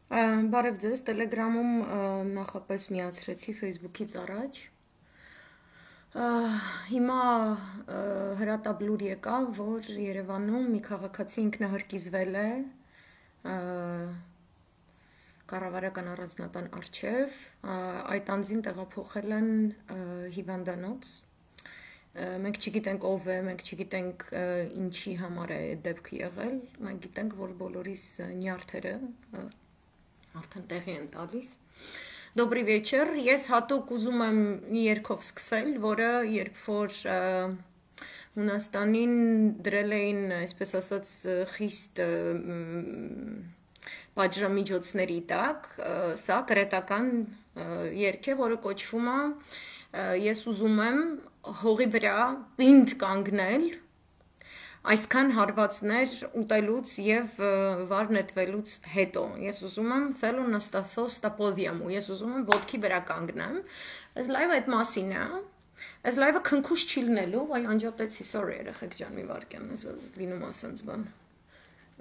Բարև ձեզ, Telegram-ում նախապես միացրեցի Facebook-ից առաջ։ Հիմա հրատապլուր եկավ, որ Երևանում մի քաղաքացի ինքնահրկիզվել է կառավարական առանձնատան առջև, այդ անձին տեղափոխել են հիվանդանոց։ Մենք չգիտենք ով է, մենք չգիտենք ինչի համար է դեպքը եղել, մենք գիտենք, որ բոլորիս նյարդերը արդեն տեղի են տալիս։ Добрый вечер, ես հատուկ ուզում եմ մի երգով սկսել, որը երբ որ Հունաստանին դրել էին, այսպես ասած, խիստ պատժամիջոցների տակ, սա կրետական երգ է, որը կոչվում է ես ուզում եմ հողի վրա պինդ կանգնել այսքան հարվածներ ուտելուց եւ վար նետվելուց հետո ես ուզում եմ θέλω նստածո ստապոդիամու ես ուզում եմ ոտքի վրա կանգնեմ այս լայվը այդ մասին է այս լայվը քնքուշ չի լինելու այ անջատեցի sorry երեխեք ջան մի վարքյան ես լինում ասենց բան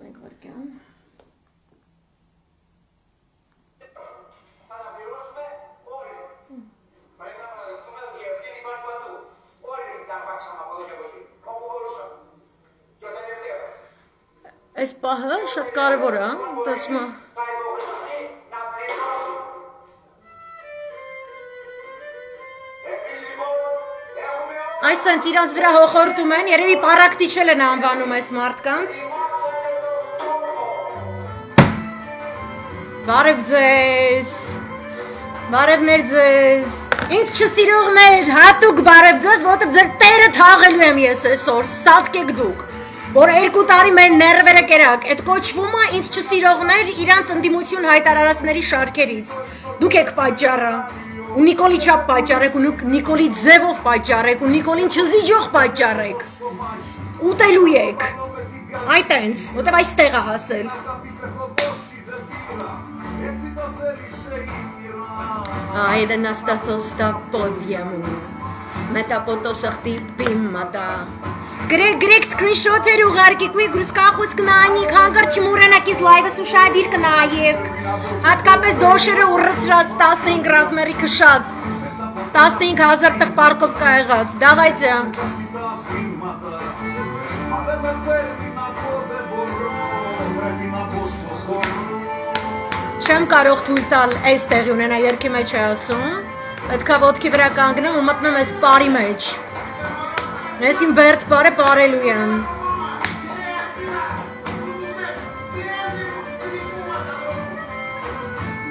մեկ վարքյան Այս պահը շատ կարևոր է, տեսնում եմ։ Այսինքն իրանց վրա հոխորտում են, երևի պարակտիչել են անվանում այս մարդկանց։ Բարև ձեզ։ Բարև մեր ձեզ։ Ինձ չսիրողներ, հատուկ բարև ձեզ, որովհետև ձեր տերը թաղելու եմ ես այսօր, սատկեք դուք։ Որ 2 տարի մեր ներվերը կերակ, այդ կոչվում է ինձ չսիրողներ իրանց ընդդիմություն հայտարարածների շարքերից։ Դուք եք պատճառը, ու Նիկոլի չափ պատճառ եք, ու Նիկոլի ձևով պատճառ եք, ու Նիկոլին չզիջող պատճառ եք։ Ուտելու եք։ Այդ այնց, որտեվ այստեղ է հասել։ Այդը նաստաթոստա պոդիամու, մետապոտոսախտի պիմմատա։ Գրեք սկրինշոթեր ուղարկեք, ու գրուսկախոց կնայինք, հանկարծ չմուրենակ իզ լայվս ուշադիր կնայեք, հատկապես դոշերը ուռծրած 15 ռազմերի քշած, 15,000 տղ պարկով կայղած, դավայցե։ Չեմ կարող թույլ տալ այս տեղի ունենա երկի մեջ է ասում, պետքա ոտքի վրա կանգնեմ ու մտնեմ այս պարի մեջ։ Ես իմ բերդ պարը պարելու եմ։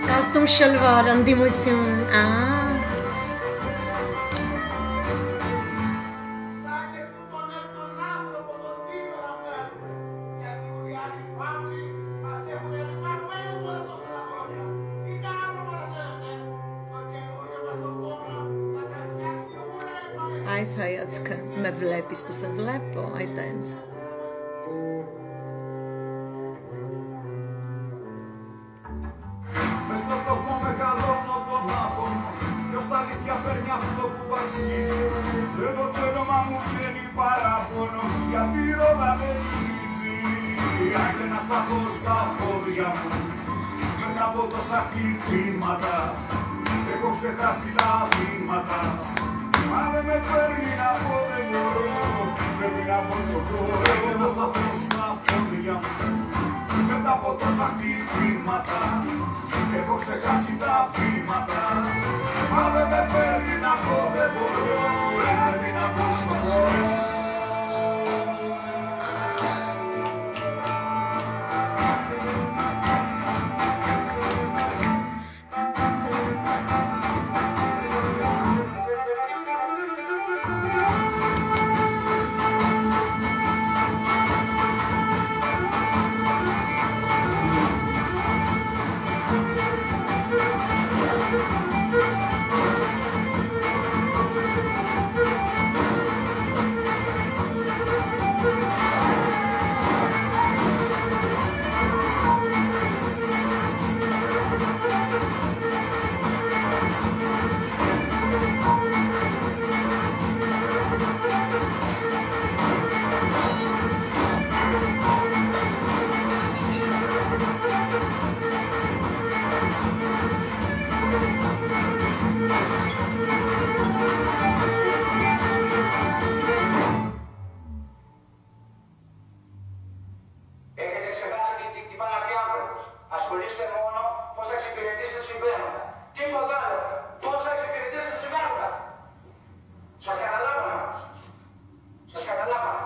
Կաստում շլվար, ընդդիմություն, Այս հայացքը մե վլեպ, իսպուսը վլեպ, այդ այնց։ Madre me termina por el muro, termina por su cuore, no sta festa podria. Me tapo to sakti primata, e forse casi da primata. Madre me termina por el muro, termina por su cuore. ξεχάσετε τι πάει να πει άνθρωπος. Ασχολείστε μόνο πώς θα εξυπηρετήσετε τα συμβαίνοντα. Τίποτα άλλο. Πώς θα εξυπηρετήσετε τα συμβαίνοντα. Σας καταλάβαμε όμως. Σας καταλάβαμε.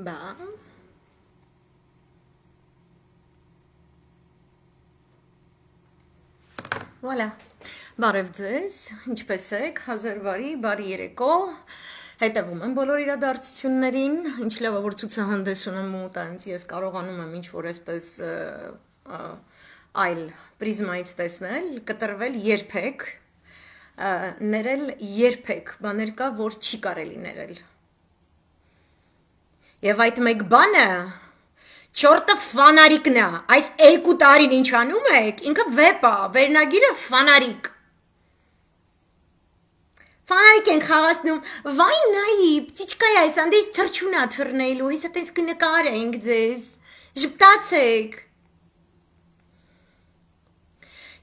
Բա Voilà, բարև ձեզ, ինչպես եք, հազար բարի, բարի երեկո, հետևում եմ բոլոր իրադարձություններին, ինչ լավ որ ցուցահանդես ունեմ ու տենց ես կարողանում եմ ինչ-որ այսպես այլ պրիզմայից տեսնել, կտրվել երբեք, ներել երբեք, բաներ կա, որ չի կարելի ներել։ Եվ այդ մեկ բանը Չորտը ֆանարիկն է, այս 2 տարին ինչ անում եք, ինքը վեպ է, վերնագիրը ֆանարիկ։ Ֆանարիկ ենք խաղացնում, վայ նայի, պտիչկա է այս, անդես թրջուն է թռնելու, հեսա տես կնկար ենք ձեզ, ժպտացեք։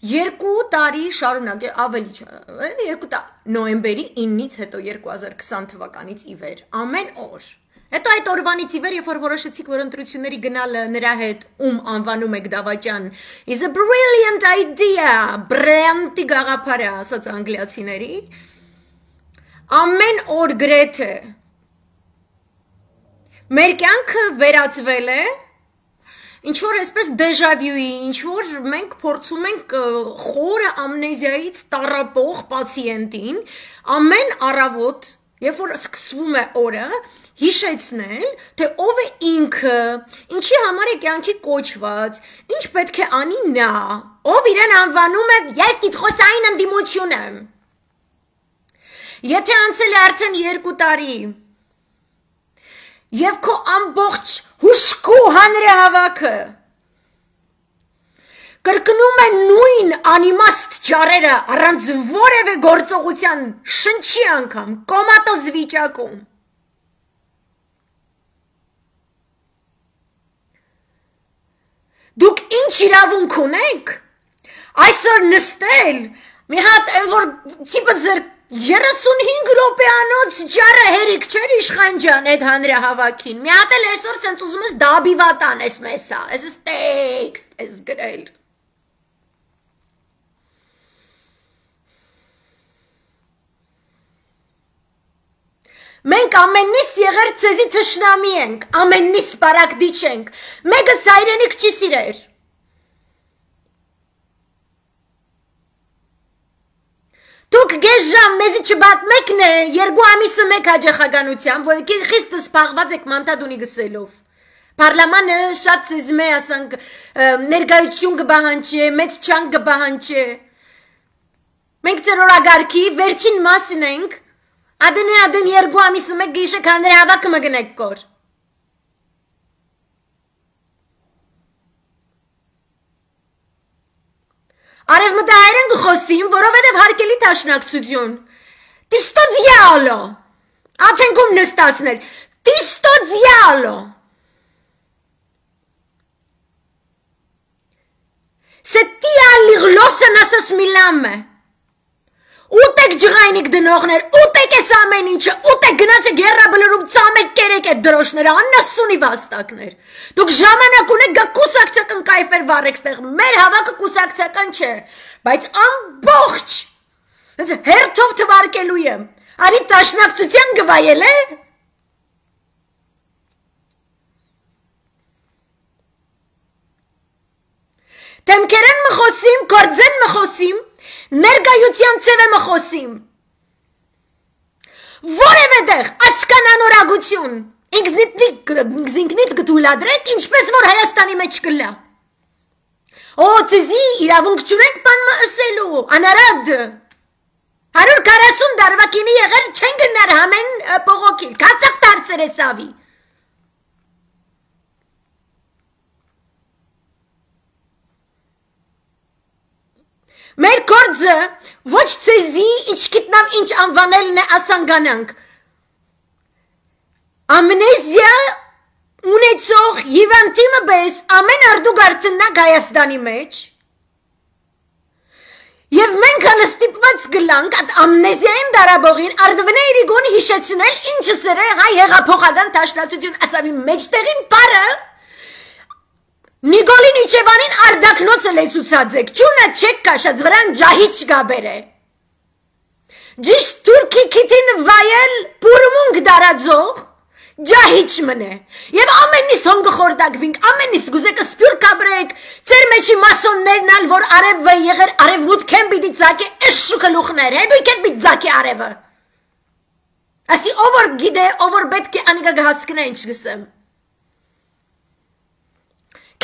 2 տարի շարունակ, ավելի չէ, նոյեմբերի 9-ից հետո 2020 թվականից ի վեր, ամեն օր։ Հետո այդ օրվանից ի վեր, երբ որ որոշեցիք, որ ընտրությունների գնալը նրա հետ անվանում եք դավաճան, is a brilliant idea, բրիլյանտի գաղափար է, ասած անգլիացիների, ամեն օր գրեթե մեր կյանքը վերածվել է, ինչ-որ այսպես դեժավյուի, ինչ-որ մենք փորձում ենք խորը ամնեզիայից տառապող պացիենտին, ամեն առավոտ, երբ որ սկսվում է օրը, հիշեցնել, թե ով է ինքը, ինչի համար է կյանքի կոչված, ինչ պետք է անի նա, ով իրեն անվանում է, ես տիտխոսային ընդդիմություն եմ։ Եթե անցել է արդեն 2 տարի, և քո ամբողջ հուշկու հանրահավաքը կրկնում է նույն անիմաստ ճառերը առանց որևէ գործողության շնչի անգամ, կոմատոզ վիճակում, Դուք ինչ իրավունք ունեք, այսօր նստել, մի հատ որ տիպը ձեր 35 րոպեանոց ջարը հերիք չէր իշխան ջան այդ հանրահավաքին, մի հատ էլ այսօր սենց ուզում ես դաբիվատան ես մեսա, ես տեքստ ես գրել։ Մենք ամեննիս եղեր ցեզի թշնամի ենք, ամեննիս բարակդի չենք, մեկս հայրենիք չի սիրեր։ Դուք գեզ ժամ մեզի չբատմեկն է, 2 ամիսը մեկ հաջախականությամբ, որ խիստը սպաղված եք մանտադունի գսելով։ Պարլամանը շատ ցեզմ է, ասանք, ներգայություն կբահանչե, մեծ չանք կբահանչե։ Մենք ձեր օրագարքի վերջին մասն ենք, Adın 2 ամիսը մեկ գիշեք հանրահավաքը մգնեք կոր։ Արևմտահայեր են գխոսիմ, որովհետև հարկելի դաշնակցություն։ Տիստո դիալո։ Աթենքում նստածներ։ Տիստո դիալո։ Se դիալիղլոսը նասս միլամը։ Ուտեք ջղայնիկ դնողներ, ուտեք ես ամեն ինչը, ուտեք գնաց եք երրաբլրում ծամեք կերեք այդ դրոշները, աննասունի վաստակներ։ Դուք ժամանակ ունեք գա կուսակցական կայֆեր վարեք ստեղ, մեր հավաքը կուսակցական չէ, բայց ամբողջ, հերթով թվարկելու եմ, արի տաշնակցության գվայել է։ Դեմքերեն մխոսիմ, կործեն մխոսիմ, ներգայության ծև եմ խոսիմ, որև է դեղ ասկանանորագություն, ինքնիտ գտուլադրեք, ինչպես որ Հայաստանի մեջ կլա, Օ, ծիզի իրավունք չունենք բան մըսելու, անարադ, 140 դարվակինի եղեր չեն գնար համեն պողոքիլ, կացակ դարձեր է սավի, Մեր գործը ոչ ցեզի ինչ գիտնամ ինչ անվանելն է ասանգանանք։ Ամնեզիա ունեցող հիվանդիմը բես ամեն արդուգարտնակ Հայաստանի մեջ և մենք հալը ստիպված գլանք այդ ամնեզիային դարաբողին արդվնե իրիգուն հիշեցնել ինչը սրե հայ հեղափոխական տաշնացություն ասավի մեջտեղին պարը Նիկոլին Իչևանին արդակնոցը լեցուցած եք ճունը չեք կաշած վրան ջահիչ գաբեր է Ճիշտ թուրքի քիթին վայել պուրմունք դարածող ջահիչ մնե Եվ ամենից հոնգը խորդակվինք, ամենից գուզեկը սպյուր կաբրեք, ծեր մեջի մասոններն ալ, որ արևը եղեր արևմուտք են բիդի ծակի էս շուկը լուխներ, հետույք էտ բիտ ծակի արևը Ասի ովոր գիդե, ովոր պետք է անիկա գհասկնա ինչ գսեմ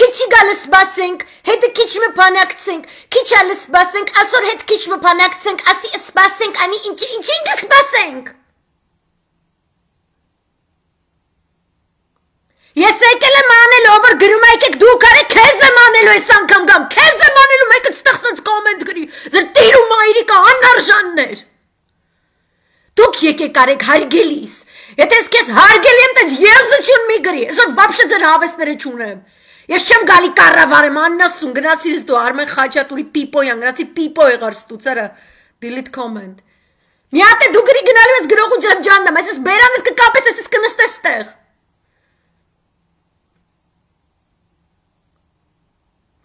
Քիչի գալը սպասենք, հետը քիչ մը փանակցենք, քիչ ալը սպասենք, ասոր հետ քիչ մը փանակցենք, ասի սպասենք, անի ինչին կսպասենք Ես եկել եմ անելու, որ գրում եկեք դուք արեք, քեզ եմ անելու ես անգամ գամ, քեզ եմ անելու, մեկը ստեղծած կոմենտ գրի, ձեր տիր ու մայրիկը անարժաններ Դուք եկեք արեք հարգելիս, եթե ես քեզ հարգել եմ, տենց եզություն մի գրի, այսօր վապշը ձեր հավեսները չունեմ Ես չեմ գալի կառավարեմ, աննասուն, գնացիր դու Արմեն Խաչատուրի պիպոյան, գնացի պիպո եղար ստուծերը, delete comment Մի հատ է դու գրի գնալու ես գրողու ջանջանդամ, ես բերանդ կկապես, ես կնստես տեղ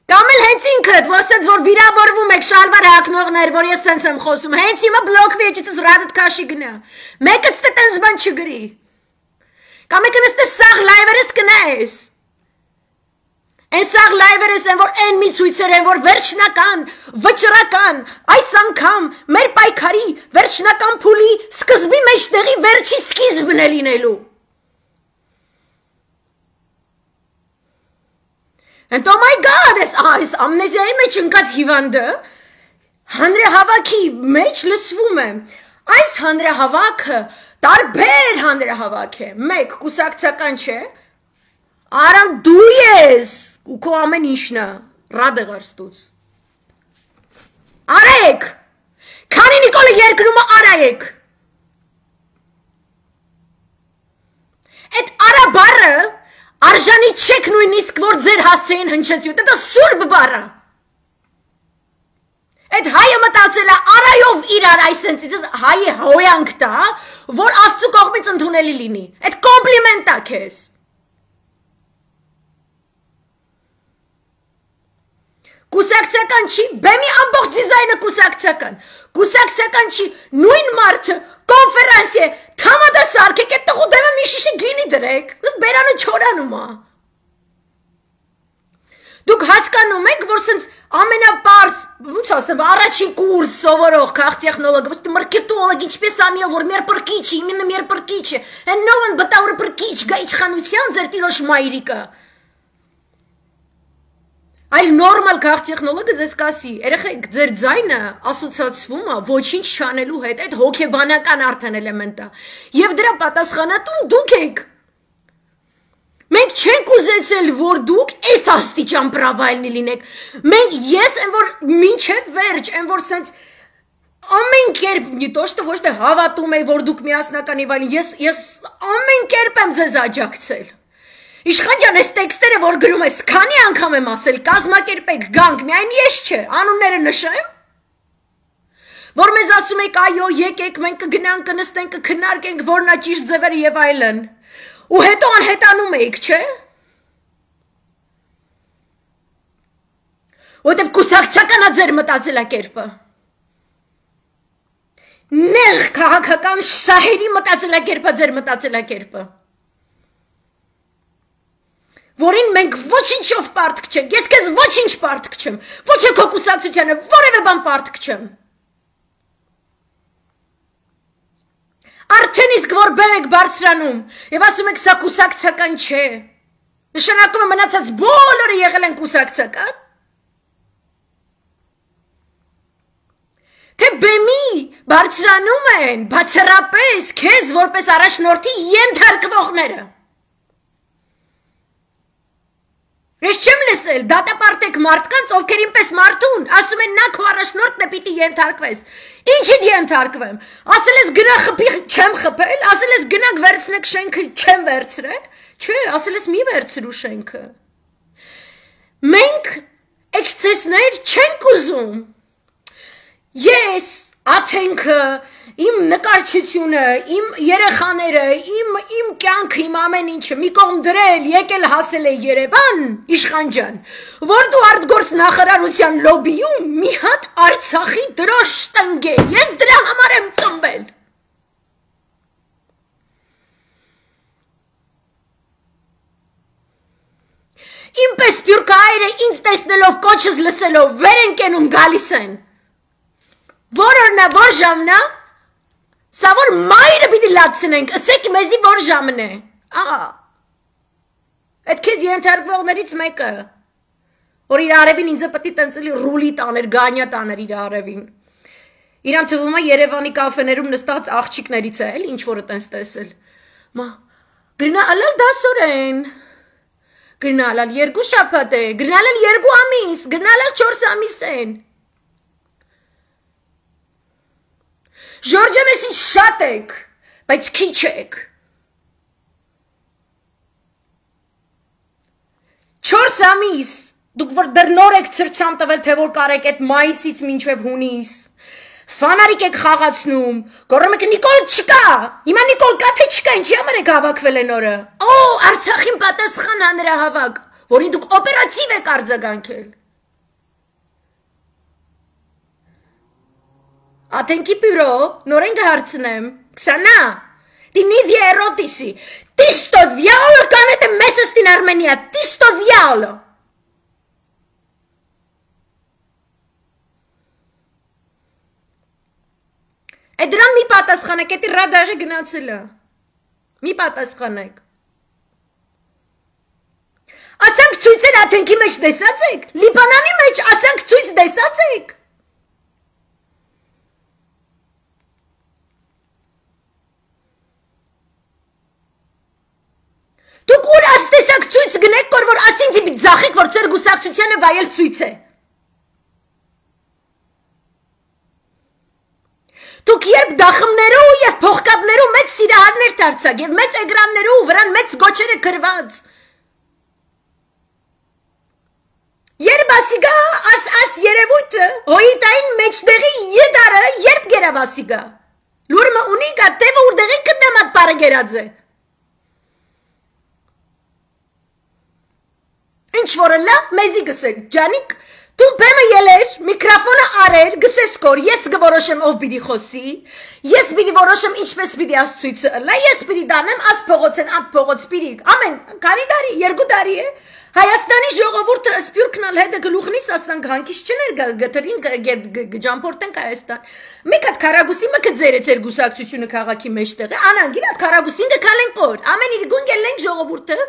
Կամ էլ հենց ինքդ, որ սենց որ վիրավորվում եք շալվար հակնողներ, որ ես սենց եմ խոսում, հենց հիմա բլոկվի էջիցս ռադդ կաշի գնա, մեկըց տե տենց բան չգրի Կամ եք նստես սաղ լայվերս կնայես Են սաղ լայվերս են, որ են մի ցույցեր են, որ վերջնական, վճռական, այս անգամ մեր պայքարի վերջնական փուլի սկզբի մեջտեղի վերջի սկիզբն է լինելու And oh my God, այս ամնեզիայի մեջ ընկած հիվանդը հանրահավաքի մեջ լսվում է Այս հանրահավաքը տարբեր հանրահավաք է Մեկ կուսակցական չէ Արան դու ես ու քո ամեն ինչնը ռադը գարստուց Արեք Քանի Նիկոլը երկրումը արայեք Այդ արաբարը Արժանի չեք նույնիսկ, որ ձեր հասցեին հնչեցյութ, դա սուրբ բարը Այդ հայը մտածել է արայով իրար այսենց, հայը հոյանք տա, որ աստծու կողմից ընդունելի լինի Այդ կոմպլիմենտ է քեզ Կուսակցական չի, բեմի ամբողջ դիզայնը կուսակցական չի, նույն մարդը կոնֆերանսի է, թամադա սարքեք, այդ տղու դեմը մի շիշի գինի դրեք, դες բերանը չորանում է Դուք հասկանում եք, որ սենց ամենապարս, ոնց ասեմ, առաջին կուրս սովորող քաղտեխնոլոգը, ոչ մարկետոլոգ, ինչպես անել, որ մեր պրկիչ է, իմенно մեր պրկիչ է, են նովն բտավորը պրկիչ, գա իշխանության ձեր տիրոջ մայրիկը Այլ նորմալ քաղտեխնոլոգը ձեզ կասի, երեխեք ձեր ձայնը ասոցացվում է ոչինչ չանելու հետ, այդ հոգեբանական արդեն էլեմենտ է Եվ դրա պատասխանատուն դուք եք Մենք չենք ուզեցել, որ դուք այս աստիճան պրավայլնի լինեք Մենք ես եմ, որ մինչև վերջ, եմ, որ սենց ամեն կերպ, նիտոշտը ոչ թե հավատում է, որ դուք միասնական և այլն Ես ամեն կերպ եմ ձեզ աջակցել Իշխան ջան, այս տեքստերը, որ գրում ես, քանի անգամ եմ ասել, կազմակերպեք, գանք, միայն ես չէ, անունները նշեմ Որ մեզ ասում եք, այո, եկեք, մենք կգնանք, կնստենք, կքննարկենք, որն է ճիշտ ձևերը և այլն Ու հետո անհետանում էիք, չէ Որտև կուսակցական է ձեր մտածելակերպը Նեղ քաղաքական շահերի մտածելակերպը ձեր մտածելակերպը Որին մենք ոչինչով պարտք չենք, ես քեզ ոչինչ պարտք չեմ, ոչ է քո կուսակցությանը, որևէ բան պարտք չեմ Արդեն իսկ որ բեմ եք բարձրանում և ասում եք սա կուսակցական չէ Նշանակում է մնացած բոլորը եղել են կուսակցական Թե բեմի բարձրանում են բացառապես քեզ որպես առաջնորդի ենթարկվողները Ես չեմ լսել, դատապարտեք մարդկանց, ովքերին պես մարդուն, ասում են նա քո առաջնորդն է պիտի ենթարկվես Ինչիդ ենթարկվեմ, ասել ես գնա խփի չեմ խփել, ասել ես գնանք վերցնեք շենքը չեմ վերցրել Չէ, ասել ես մի վերցրու շենքը Մենք էքսցեսներ չենք ուզում Ես աթենքը, իմ նկարչությունը, իմ երեխաները, իմ կյանքը, իմ ամեն ինչը մի կողմ դրել, եկել հասել է Երևան, Իշխան ջան, որ դու արտգործ նախարարության լոբիում մի հատ Արցախի դրոշ տնկե, ես դրա համար եմ ծնվել։ Իմպես սպյուրքայերը ինձ տեսնելով կոչս լսելով վեր են կենում գալիս են։ Որ օրնա, որ ժամնա, սա որ մայրը պիտի լացնենք, ասեք մեզի որ ժամն է, աղա, այդ կեզ ենթարկվողներից մեկը, որ իր արևին ինձը պտի տենցելի ռուլի տաներ, գանյա տաներ իր արևին, իրան թվում է Երևանի կաֆեներում նստած աղջիկներից է, էլ ինչ որը տենց տեսել, մա, գրնա ալալ դասորեն, գրնա ալալ 2 շաբաթ է, գրնա ալալ 2 ամիս, գրնա ալալ 4 ամիս են, Ժորջան ես ինչ շատ եք, բայց քիչ եք, 4 ամիս, դուք որ դրնոր եք ծրցամ տվել, թե որ կարեք այդ մայիսից մինչև հունիս, Ֆանարիկ եք խաղացնում, գոռում եք Նիկոլ չկա, հիմա Նիկոլ կա թե չկա, ինչի համար եք հավաքվել են օրը, Արցախին պատասխան հանրահավաք, որին դուք օպերատիվ եք արձագանքել, Աթենքի բյուրո, նորեն կհարցնեմ, Քսանա, ты не веротиси, ты что дьявол, канете месяц in Armenia, ты что дьявол? Էդրան մի պատասխանեք, էդի ռադարը գնացել է, մի պատասխանեք, ասանք ծույցեր աթենքի մեջ դեսած եք, Լիբանանի մեջ ասանք ծույց դեսած եք, Դուք ուր աստեսակ ծույց գնեք, որ ասինձի մի ձախեք, որ ծեր գուսակցությանը վայել ծույց է, Դուք երբ դախմներու և փողկապներու մեծ սիրահարներ դարձակ և մեծ էգրաններու վրան մեծ գոչերը գրված։ Երբ ասիգա աս երևույթը հոյիտային մեջդեղի եդարը երբ գերավ ասիգա։ Լուրմը ունի գա տևը ուրդեղի կտնամատ պարը գերած է։ Ինչ որը լա մեզի գսեք, ջանիկ Դու բեմը ելեր, միկրոֆոնը արեր, գսես կոր, ես գորոշեմ ով պիտի խոսի, ես պիտի որոշեմ ինչպես պիտի ասցույցը ըլլա, ես պիտի դանեմ աս փողոցեն, ատ փողոց պիտի, ամեն, կարի դարի, 2 տարի է, Հայաստանի ժողովուրդը սպյուրքնալ հետը գլուխնից ասանք հանքից չներ գտրին գջամպորտենք Հայաստան, մեկ հատ քարագուսի մը կձեր է ձեր գուսակցությունը քաղաքի մեջտեղ է, անանգին հատ քարագուսին գքալեն կոր, ամեն իր գուն գելենք ժողովուրդը,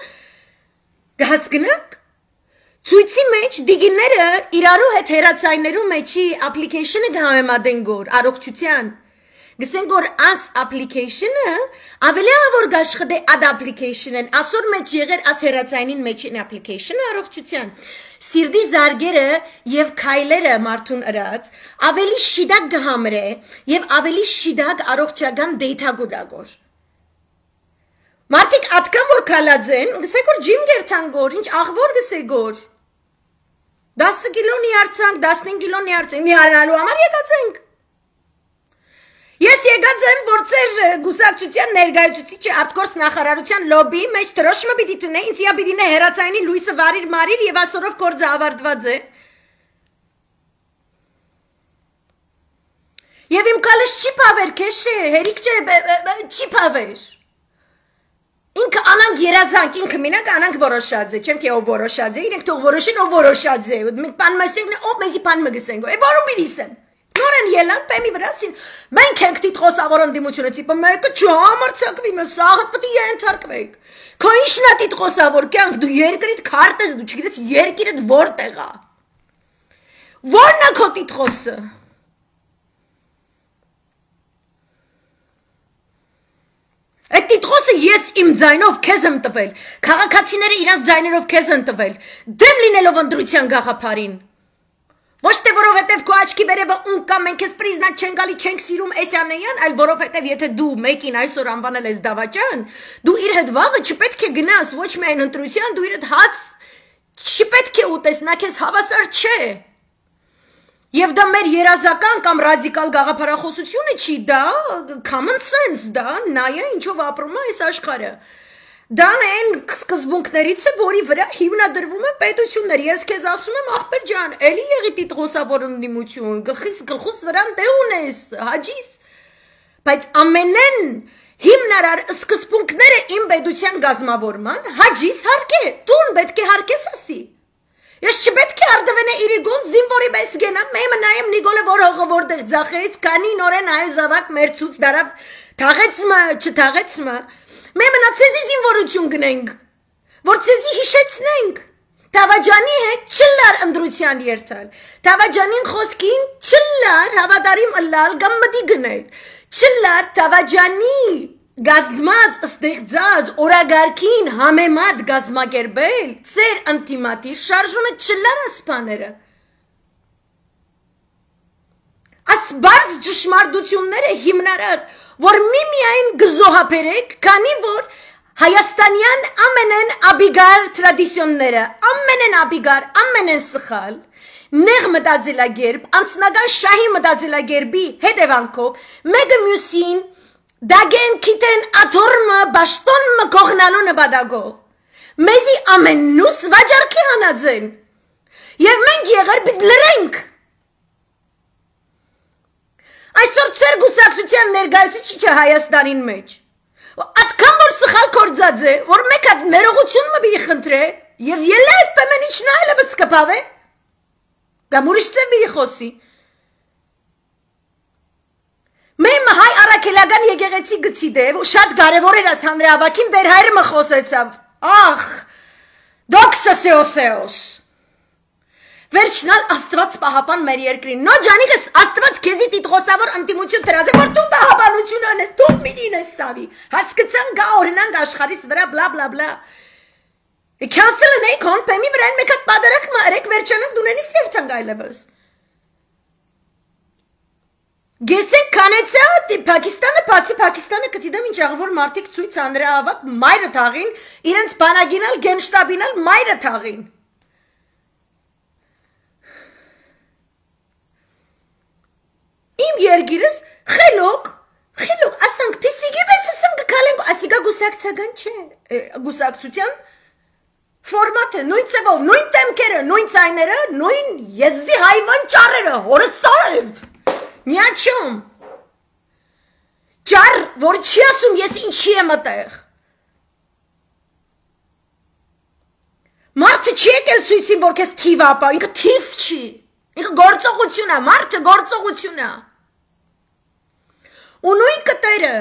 գհասկնանք Ցույցի մեջ դիգիները իրարու հետ հերացայներու մեջի application-ը գհամեմատեն գոր առողջության գսեն գոր as application-ը ավելի ավոր գաշխդե ad application-ն ասոր մեջ եղեր as հերացայնին մեջին application-ը առողջության սիրդի զարգերը եւ քայլերը մարդուն ըրած ավելի շիդակ գհամրե եւ ավելի շիդակ առողջական data գուդագոր Մարդիկ ատկան որ քալած են գսեք որ ջիմ գերթան գոր ինչ աղվոր գսե գոր 10 կիլոնի արցանք, 15 կիլոնի արցանք, մի հանալու համար եկած ենք։ Ես եկած եմ, որ ծեր գուսակցության ներգայացուցիչը արտգործ նախարարության լոբի մեջ դրոշմը պիտի տնե, ինձ իա պիտի նե հերացայինի լույսը վարիր մարիր և ասորով կործը ավարտված է։ Եվ իմ կալս չի պավեր, կեշ է, հերիք չէ, չի պավեր։ Ինքը անանք երազանք, ինքը մինակ անանք որոշած է, չեմ կե ով որոշած է, իրենք թող որոշեն ով որոշած է, մենք պան մսենք, ով մեզի պան մգսենք, որում բիրիսեմ, նորեն ելան, պեմի վրասին, մենք ենք տիտխոս ավորոն դիմությունը, տիպը մեկը չհամարցակվի, մը սաղըտ պտի ենթարկվեք, քո ինչնա տիտխոս ավոր կյանք, դու երկրիտ քարտ ես, դու չգիտես երկիրդ որտեղ է, որն է քո տիտխոսը Այդ տիտխոսը ես իմ ձայնով քեզ եմ տվել, քաղաքացիները իրանց ձայներով քեզ են տվել, դեմ լինելով ընտրության գաղափարին։ Ոչ թե որովհետև քո աչքի վերևը ուն կա մենք քեզ պրիզնատ չեն գալի, չենք սիրում Էսյանեյան, այլ որովհետև եթե դու մեկին այսօր անվանել ես դավաճան, դու իր հետ վաղը չպետք է գնաս ոչ միայն ընտրության, դու իր հետ հաց չպետք է ուտես, նա քեզ հավասար չէ։ Եվ դա մեր երազական կամ ռադիկալ գաղափարախոսությունը չի, դա common sense, դա նայա ինչով ապրում է այս աշխարհը։ Դա այն սկզբունքներից է, որի վրա հիմնադրվում են պետությունները։ Ես քեզ ասում եմ, ախպեր ջան, էլի եղի տիտղոսավոր ընդդիմություն, գլխուս վրան դե ունես, հաջիս։ Բայց ամենեն հիմնարար սկզբունքները իմ պետության գազմավորման հաջիս հարկե, տուն պետք է հարկես ասի։ Ես չպետք է արդվենե իրիգոն զինվորի պես գենամ, մեմը նայեմ Նիկոլը որ հողը որտեղ ձախեց, կանի նորեն այո զավակ մերցուց դարավ թաղեցմը, չթաղեցմը, մեմը նա ցեզի զինվորություն գնենք, որ ցեզի հիշեցնենք, Թավաջանի հետ չլար ընդրության երթալ, Թավաջանին խոսքին չլար հավատարիմ ըլլալ կամ մտի գնել, չլար Թավաջանի գազմած ստեղծած օրագարկին համեմատ գազմակերպել ծեր ընտիմատիր շարժումը չլար ասպաները ասբարզ ճշմարտությունները հիմնարար որ միմիայն գզոհապերեք քանի որ հայաստանյան ամենեն աբիգար տրադիցիոնները ամենեն աբիգար ամենեն սխալ նեղ մտածելակերպ անձնական շահի մտածելակերպի հետևանքով մեկը մյուսին Դագեն քիտեն աթորմը բաշտոնը կողնալու նպատակով մեզի ամենուս վաճառքի հանածեն եւ մենք եղեր պիտի լրենք այսօր ծեր գուսակցության ներկայացուցիչը Հայաստանին մեջ այդքան որ սխալ կործած է որ մեկ հատ ներողություն մի խնդրե եւ ելա այդ պեմեն իջնայելը վսկապավ է կամ ուրիշ ծեմ մի խոսի Մեմ հայ առաքելական եկեղեցի գցի դեվ ու շատ կարևոր էր աս հանրահավաքին դեր հայրը մը խոսեցավ ախ դոքսը սեոսեոս վերջնալ աստված պահապան մեր երկրին նո ջանիկս աստված քեզի տիտղոսավոր ընդդիմություն դրած է որ դու պահապանություն անես դու միտին ես սավի հասկացան գա օրինակ աշխարհից վրա բլա բլա բլա Քանսելն էի կոն պեմի վրա մեկ հատ պադարակ մարեք վերջանակ դունենի սերտան գայլևս Գեսեք կանեցա Պակիստանը բացի Պակիստանը կտիդեմ ինչ աղվոր մարդիկ ցույց հանրահավաք մայրը թաղին իրենց բանակինալ գենշտաբինալ մայրը թաղին Իմ երգիրս խելոք ասանք պիսիգի պես ասեմ կկալենք ասիկա գուսակցական չէ գուսակցության ֆորմատը նույն ծևով նույն տեմքերը նույն ցայները նույն եզի հայվան ճառերը հորսալև Նյաչում Ճար, որ չի ասում ես ինչի եմ ատեղ Մարդը չի եկել ցույցին, որ քեզ թիվ ապա, ինքը թիվ չի Ինքը գործողություն է, մարդը գործողություն է Ու նույն կտերը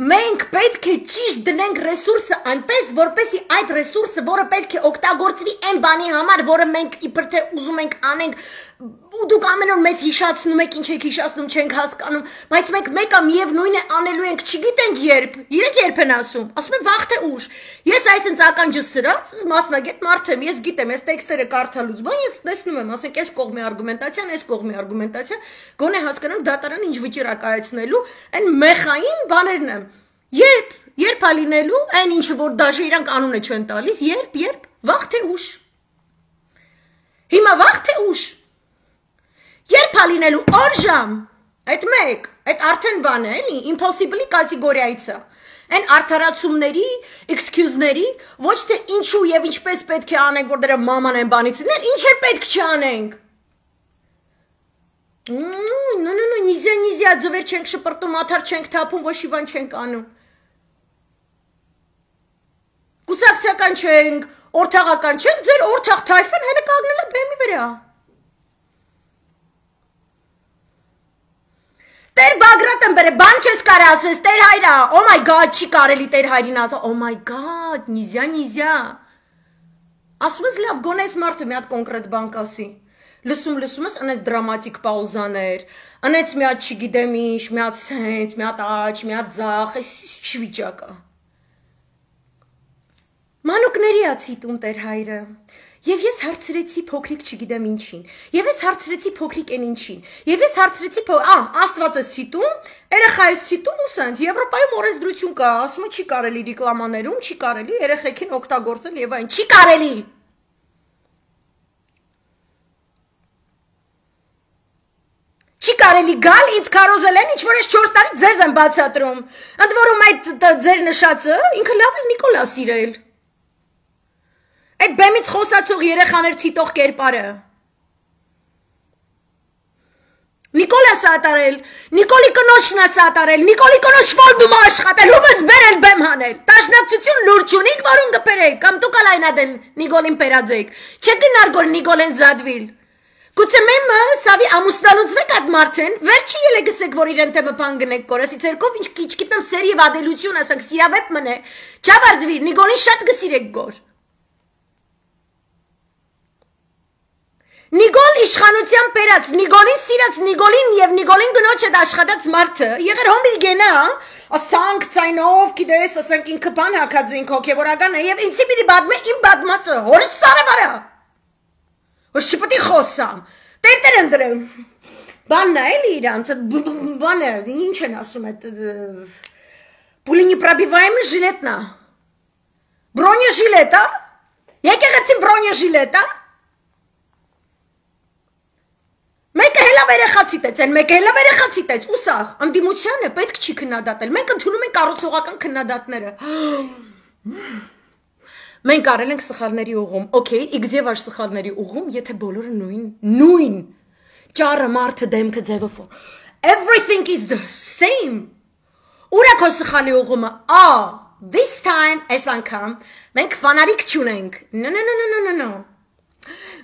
մենք պետք է ճիշտ դնենք ռեսուրսը այնպես, որպեսի այդ ռեսուրսը, որը պետք է օգտագործվի այն բանի համար, որը մենք իբր թե ուզում ենք անենք, ու դուք ամեն օր մեզ հիշացնում եք, ինչ եք հիշացնում, չենք հասկանում, բայց մենք մեկը միևնույն է անելու ենք, չգիտենք երբ, իրեք երբ են ասում եմ վաղ թե ուշ, ես այսինչ ականջս սրած, մասնագետ մարդ եմ, ես գիտեմ, ես տեքստերը կարդալուց, բան ես տեսնում եմ, ասենք, այս կողմի արգումենտացիան, այս կողմի արգումենտացիա, գոնե հասկանանք դատարանը ինչ վիճիր է կայացնելու, այն մեխային բաներն եմ, երբ ալինելու, այն ինչը որ դաժե իրանք անունը չեն տալիս, երբ, վաղ թե ուշ, հիմա վաղ թե ուշ, երբ ալինելու օր ժամ, այդ մեկ, այդ արդեն բան է, impossible-ի կատեգորիայից է, այն արդարացումների, excuse-ների, ոչ թե ինչու և ինչպես պետք է անենք, որ դրա մաման են բանից ինել, ինչ է պետք չանենք, նիզյա, ձվեր չենք շպրտում, աթար չենք թապում, ոչ իվան չենք անում, կուսակցական չենք, օրթաղական չենք, ձեր օրթաղ թայֆեն հենը կագնել է բեմի վրա, Տեր Բագրատ եմ բրե, բան չես կար ասես, տեր հայրա, oh my god, չի կարելի տեր հայրին ասա, oh my god, նիզյա, ասում ես լավ, գոն ես մարդը մի հատ կոնկրետ բան կասի, լսում ես, անեց դրամատիկ պաուզաներ, անեց մի հատ չգիտեմ ինչ, մի հատ սենց, մի հատ աչ, մի հատ ձախ, ինչ վիճակա, մանուկների ացիտում տեր հայրը, Եվ ես հարցրեցի փոքրիկ չգիտեմ ինչին, եւ ես հարցրեցի փոքրիկ են ինչին, եւ ես հարցրեցի Աստված ես ցիտում, երեխա ես ցիտում ու սենց, Եվրոպայում օրենսդրություն կա, ասում չի կարելի ռեկլամաներում, չի կարելի երեխեքին օգտագործել եւ այն, չի կարելի։ Չի կարելի գալ, ինձ քարոզել են, ինչ որ ես 4 տարի ձեզ եմ բացատրում։ Ընդ որում այդ ձեր նշածը ինքը լավ էլ Նիկոլա սիրել։ Այդ բեմից խոսացող երեխաներ ցիտող կերպարը։ Նիկոլա սատարել, Նիկոլի կնոջն է սատարել, Նիկոլի կնոջ ֆոնդում աշխատել, ում ես բերել բեմ հանել։ Տաշնակցություն լուրջ ունիք, որում կբերեք, կամ դուք ալայնադեն Նիկոլին պերաձեք։ Չեք գնար գոր Նիկոլեն զադվիլ։ Գուցե մեմը սավի ամուսնալուծվեք այդ մարդեն, վերջի ելե գսեք, որ իրեն թեմը պան գնեք կորասի ցերկով, ինչ քիչ գիտեմ սերի եւ ադելություն ասենք սիրավետ մնե։ Չավարդվիր, Նիկոլին շատ գսիրեք գոր։ Նիկոլ իշխանության պերած, Նիկոլին սիրած, Նիկոլին եւ Նիկոլին գնոջ հետ աշխատած մարդը, եղեր հոմիլ գենա, ասանք ցայնով, գիտես, ասենք ինքը բան հակած ինք հոգեվորական է եւ ինձի մի բադմե իմ բադմածը, հորից սարավարա։ Ոչ չպետք է խոսամ։ Տեր ընդրեմ։ Բանն է էլի իրանց, բանը, ինչ են ասում այդ пуленепробиваемый жилетնա։ Բրոնեժիլետա։ Եկեղեցի բրոնեժիլետա։ Մեկը հելա վերեխացիտ են, մեկը հելա վերեխացիտ է, ուսախ, անդիմությանը պետք չի քննադատել, մենք ընդունում ենք կառուցողական քննադատները։ Մենք արել ենք սխալների ուղում, okay, իգձև աշ սխալների ուղում, եթե բոլորը նույն, ճարը մարդը դեմքը ձևով, everything is the same, ուրա քո սխալի ուղումը, this time, այս անգամ, մենք վանարիք չունենք, no,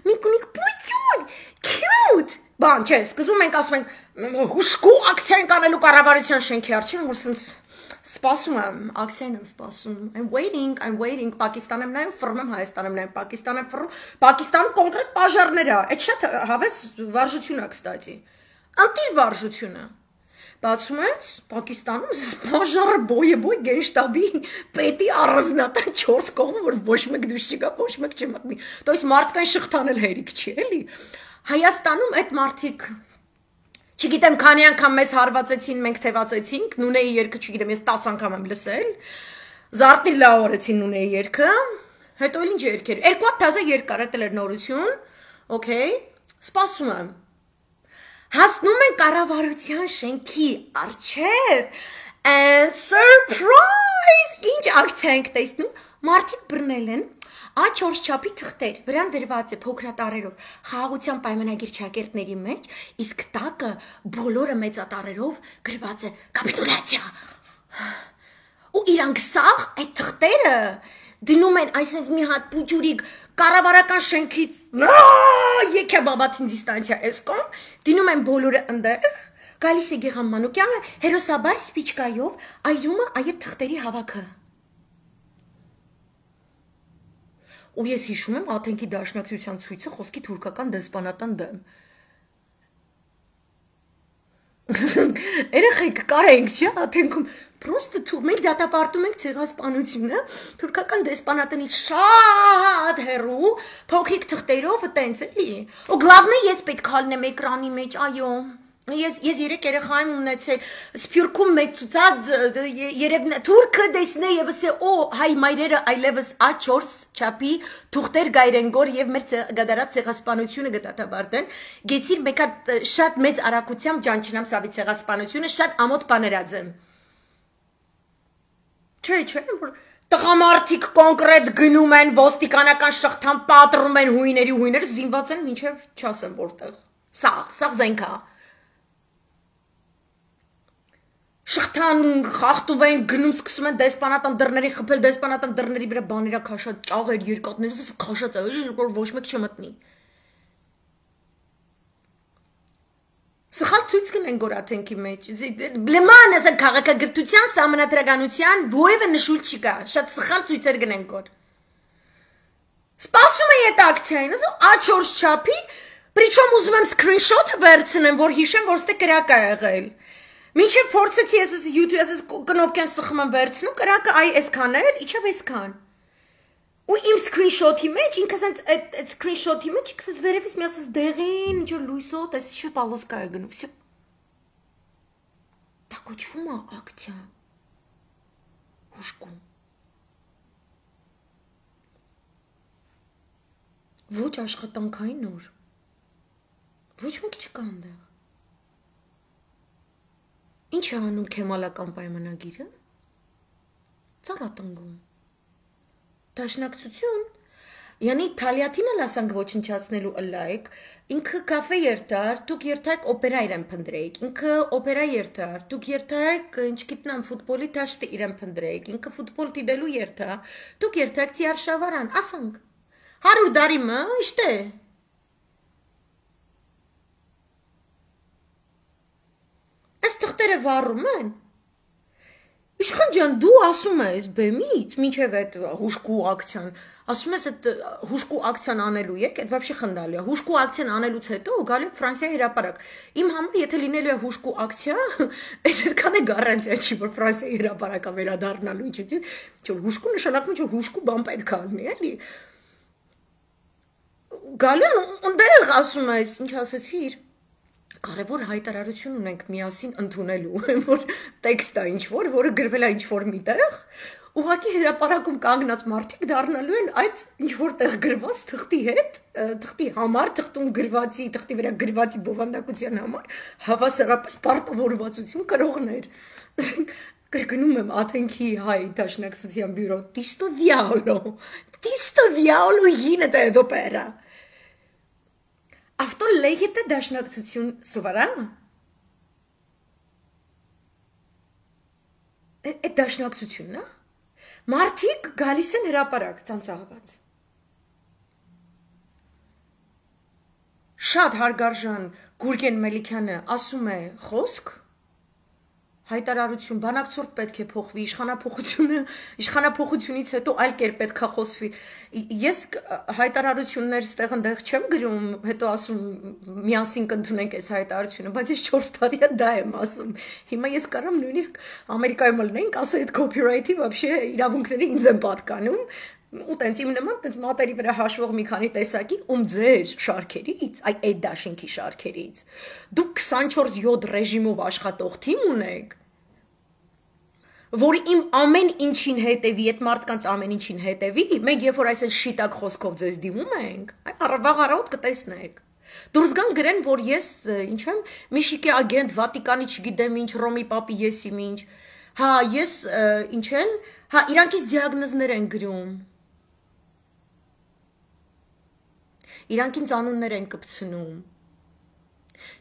մենք ունենք բույթյուն, cute, բան չէ, սկզում ենք ասում ենք, հուշկու ակցիա ենք անելու կառավարության շենքի առջև, որ սենց սպասում եմ, ակցիան եմ սպասում, I'm waiting, Պակիստան եմ նայում, ֆռում եմ, Հայաստան եմ նայում, Պակիստան եմ ֆռում, Պակիստանում կոնկրետ պաժարներ է, այդ շատ հավես վարժություն է, կստատի, անտիր վարժությունը, բացում ես, Պակիստանում պաժարը բոյ գենշտաբի պետի առանձնատան 4 կողմը, որ ոչ մեկ դուշ չկա, ոչ մեկ չմտնի, то есть մարդկային շղթանել հերիք չի, էլի, Հայաստանում այդ մարդիկ Չգիտեմ, քանի անգամ մեզ հարվածեցին, մենք թևածեցինք, Նունեի երգը, չգիտեմ, ես 10 անգամ եմ լսել, Զարտնի լաորեցին Նունեի երգը, հետո էլ ինչ երգեր, 2 թազա երգ կար, էդ էր նորություն, okay, սպասում եմ, հասնում են կառավարության շենքի առջև, and surprise, ինչ ակցիա ենք տեսնում, մարդիկ բռնել են, A4 չափի թղթեր, վրան դրված է փոքրատարերով, խաղաղության պայմանագիր ճակերտների մեջ, իսկ տակը բոլորը մեծատարերով գրված է կապիտուլյացիա։ Ու իրանք սաղ այդ թղթերը դնում են այսպես մի հատ պուջուրիկ կառավարական շենքից եկե բաբաթին դիստանցիա էսկոմ, դնում են բոլորը ընդեղ, գալիս է Գեգամ Մանուկյանը հերոսաբար սպիչկայով այրում է այդ թղթերի հավաքը։ Ու ես հիշում եմ Աթենքի դաշնակցության ցույցը խոսքի թուրքական դեսպանատան դեմ։ Երեխեք կարենք, չէ՞, Աթենքում պրոստը մենք դատապարտում ենք ցեղասպանությունը, թուրքական դեսպանատանի շատ հեռու, փոքրիկ թղթերով տենց էլի։ Ու գլավնը ես պետք հալնեմ էկրանի մեջ, այո։ Ես 3 երեխայում ունեցել Սփյուռքում մեկ ցուցած երևն թուրքը դեսնե եւ ասե օ հայ մայրերը այլևս A4 չափի թուղթեր գայրեն գոր եւ մեր գդարած ցեղասպանությունը գտատաբարտեն գեցիր մեկ հատ շատ մեծ արագությամբ ջանչնամ սավի ցեղասպանությունը շատ ամոթ բաներած եմ չէ որ տղամարդիկ կոնկրետ գնում են ոստիկանական շղթան պատռում են հույները զինված են մինչեւ չասեմ որտեղ սաղ զենքա Շղթան խախտում են գնում սկսում են դեսպանատան դռների խփել դեսպանատան դռների վրա բաներա քաշած ճաղեր երկաթներ քաշած որ ոչ մեկ չմտնի Սխալ ցույց կնեն գոր Աթենքի մեջ լման ասա քաղաքագրթության համանատրականության որևէ նշույլ չկա շատ սխալ ցույցեր գնեն գոր Սպասում է այդ ակցիային A4 չափի Причем ուզում եմ սկրինշոթը վերցնեմ որ հիշեմ որ ստե կրակ է եղել Մինչև փորձեցի ես YouTube ես կնոպկան սխում եմ վերցնում, կրակը այ այսքան էր, իջավ այսքան։ Ու իմ սկրինշոթի մեջ, ինքս այդ սկրինշոթի մեջ ինքս վերևից մի ասես դեղին, ինչ որ լույսով, այս շուտ պալոսկա է գնում, всё։ Դա կոչվում է ակցիա։ Հուշկում։ Ոչ աշխատանքային նոր։ Ոչ մեկ չկա այնտեղ։ Ինչ է անում քեմալական պայմանագիրը։ Ծառատնգում։ Դաշնակցություն։ Yani Թալիաթինը լասանք ոչնչացնելու ըլայք, ինքը կաֆե երթար, դուք երթայք օպերա իրեն փնդրեիք, ինքը օպերա երթար, դուք երթայք, ինչ գիտնամ, ֆուտբոլի դաշտը իրեն փնդրեիք, ինքը ֆուտբոլ դիտելու երթա, դուք երթայք Ծիարշավարան, ասանք, 100 դարի մը, իշտե։ Այս թղթերը վառում են։ Իշխան ջան, դու ասում ես բեմից, մինչև այդ հուշկու ակցիան, ասում ես այդ հուշկու ակցիան անելու եք, այդ вообще խնդալի է։ Հուշկու ակցիան անելուց հետո գալու եք Ֆրանսիայի հրապարակ։ Իմ համար եթե լինելու է հուշկու ակցիա, այս այդքան է գարանտիա չի, որ Ֆրանսիայի հրապարակա վերադառնալու ինչու՞։ Չէ, հուշկու նշանակում է, որ հուշկու բան պետք է լինի, էլի։ Գալու ընդեղ ասում ես, ինչ ասեցիր։ Կարևոր հայտարարություն ունենք միասին ընդունելու, որ տեքստը ինչ-որ, որը գրվել է ինչ-որ միտեղ, ուղղակի հրապարակում կանգնած մարդիկ դառնալու են այդ ինչ-որ տեղ գրված թղթի հետ, թղթի համար, թղթում գրվածի, թղթի վրա գրվածի բովանդակության համար, հավասարապես պարտավորվածություն կրողներ։ Կրկնում եմ Աթենքի հայ դաշնակցության բյուրո, Tisto diavolo յինը դե դոպերա։ Avto legete դաշնակցություն սովարա։ Այդ դաշնակցությունն է։ Մարդիկ գալիս են հրապարակ ծանծաղված։ Շատ հարգարժան Գուրգեն Մելիքյանը ասում է խոսք, հայտարարություն, բանակցորդ պետք է փոխվի, իշխանափոխությունից հետո այլ կերպ պետք է խոսվի։ Ես հայտարարություններ ստեղ ընդեղ չեմ գրում, հետո ասում միասին կընդունենք այս հայտարարությունը, բայց ես 4 տարի է դա եմ ասում։ Հիմա ես կարամ նույնիսկ Ամերիկայում լինենք, ասա այդ copyright-ի вообще իրավունքները ինձ են պատկանում։ Ու տենց իմ նման տենց մատերի վրա հաշվող մի քանի տեսակի ձեր շարքերից, այդ դաշինքի շարքերից, դուք 24/7 ռեժիմով աշխատող թիմ ունեք, որ իմ ամեն ինչին հետևի, այդ մարդկանց ամեն ինչին հետևի, մենք երբ որ այսպես շիտակ խոսքով ձեզ դիմում ենք, վաղ առավոտ կտեսնեք։ Դուրս գան գրեն, որ ես, ինչ եմ, Միշիկի ագենտ, Վատիկանի չգիտեմ ինչ, Ռոմի պապի եսիմ ինչ, հա, ես, ինչ են, հա, իրանքից դիագնոզներ են գրում, իրանքին անուններ են կպցնում,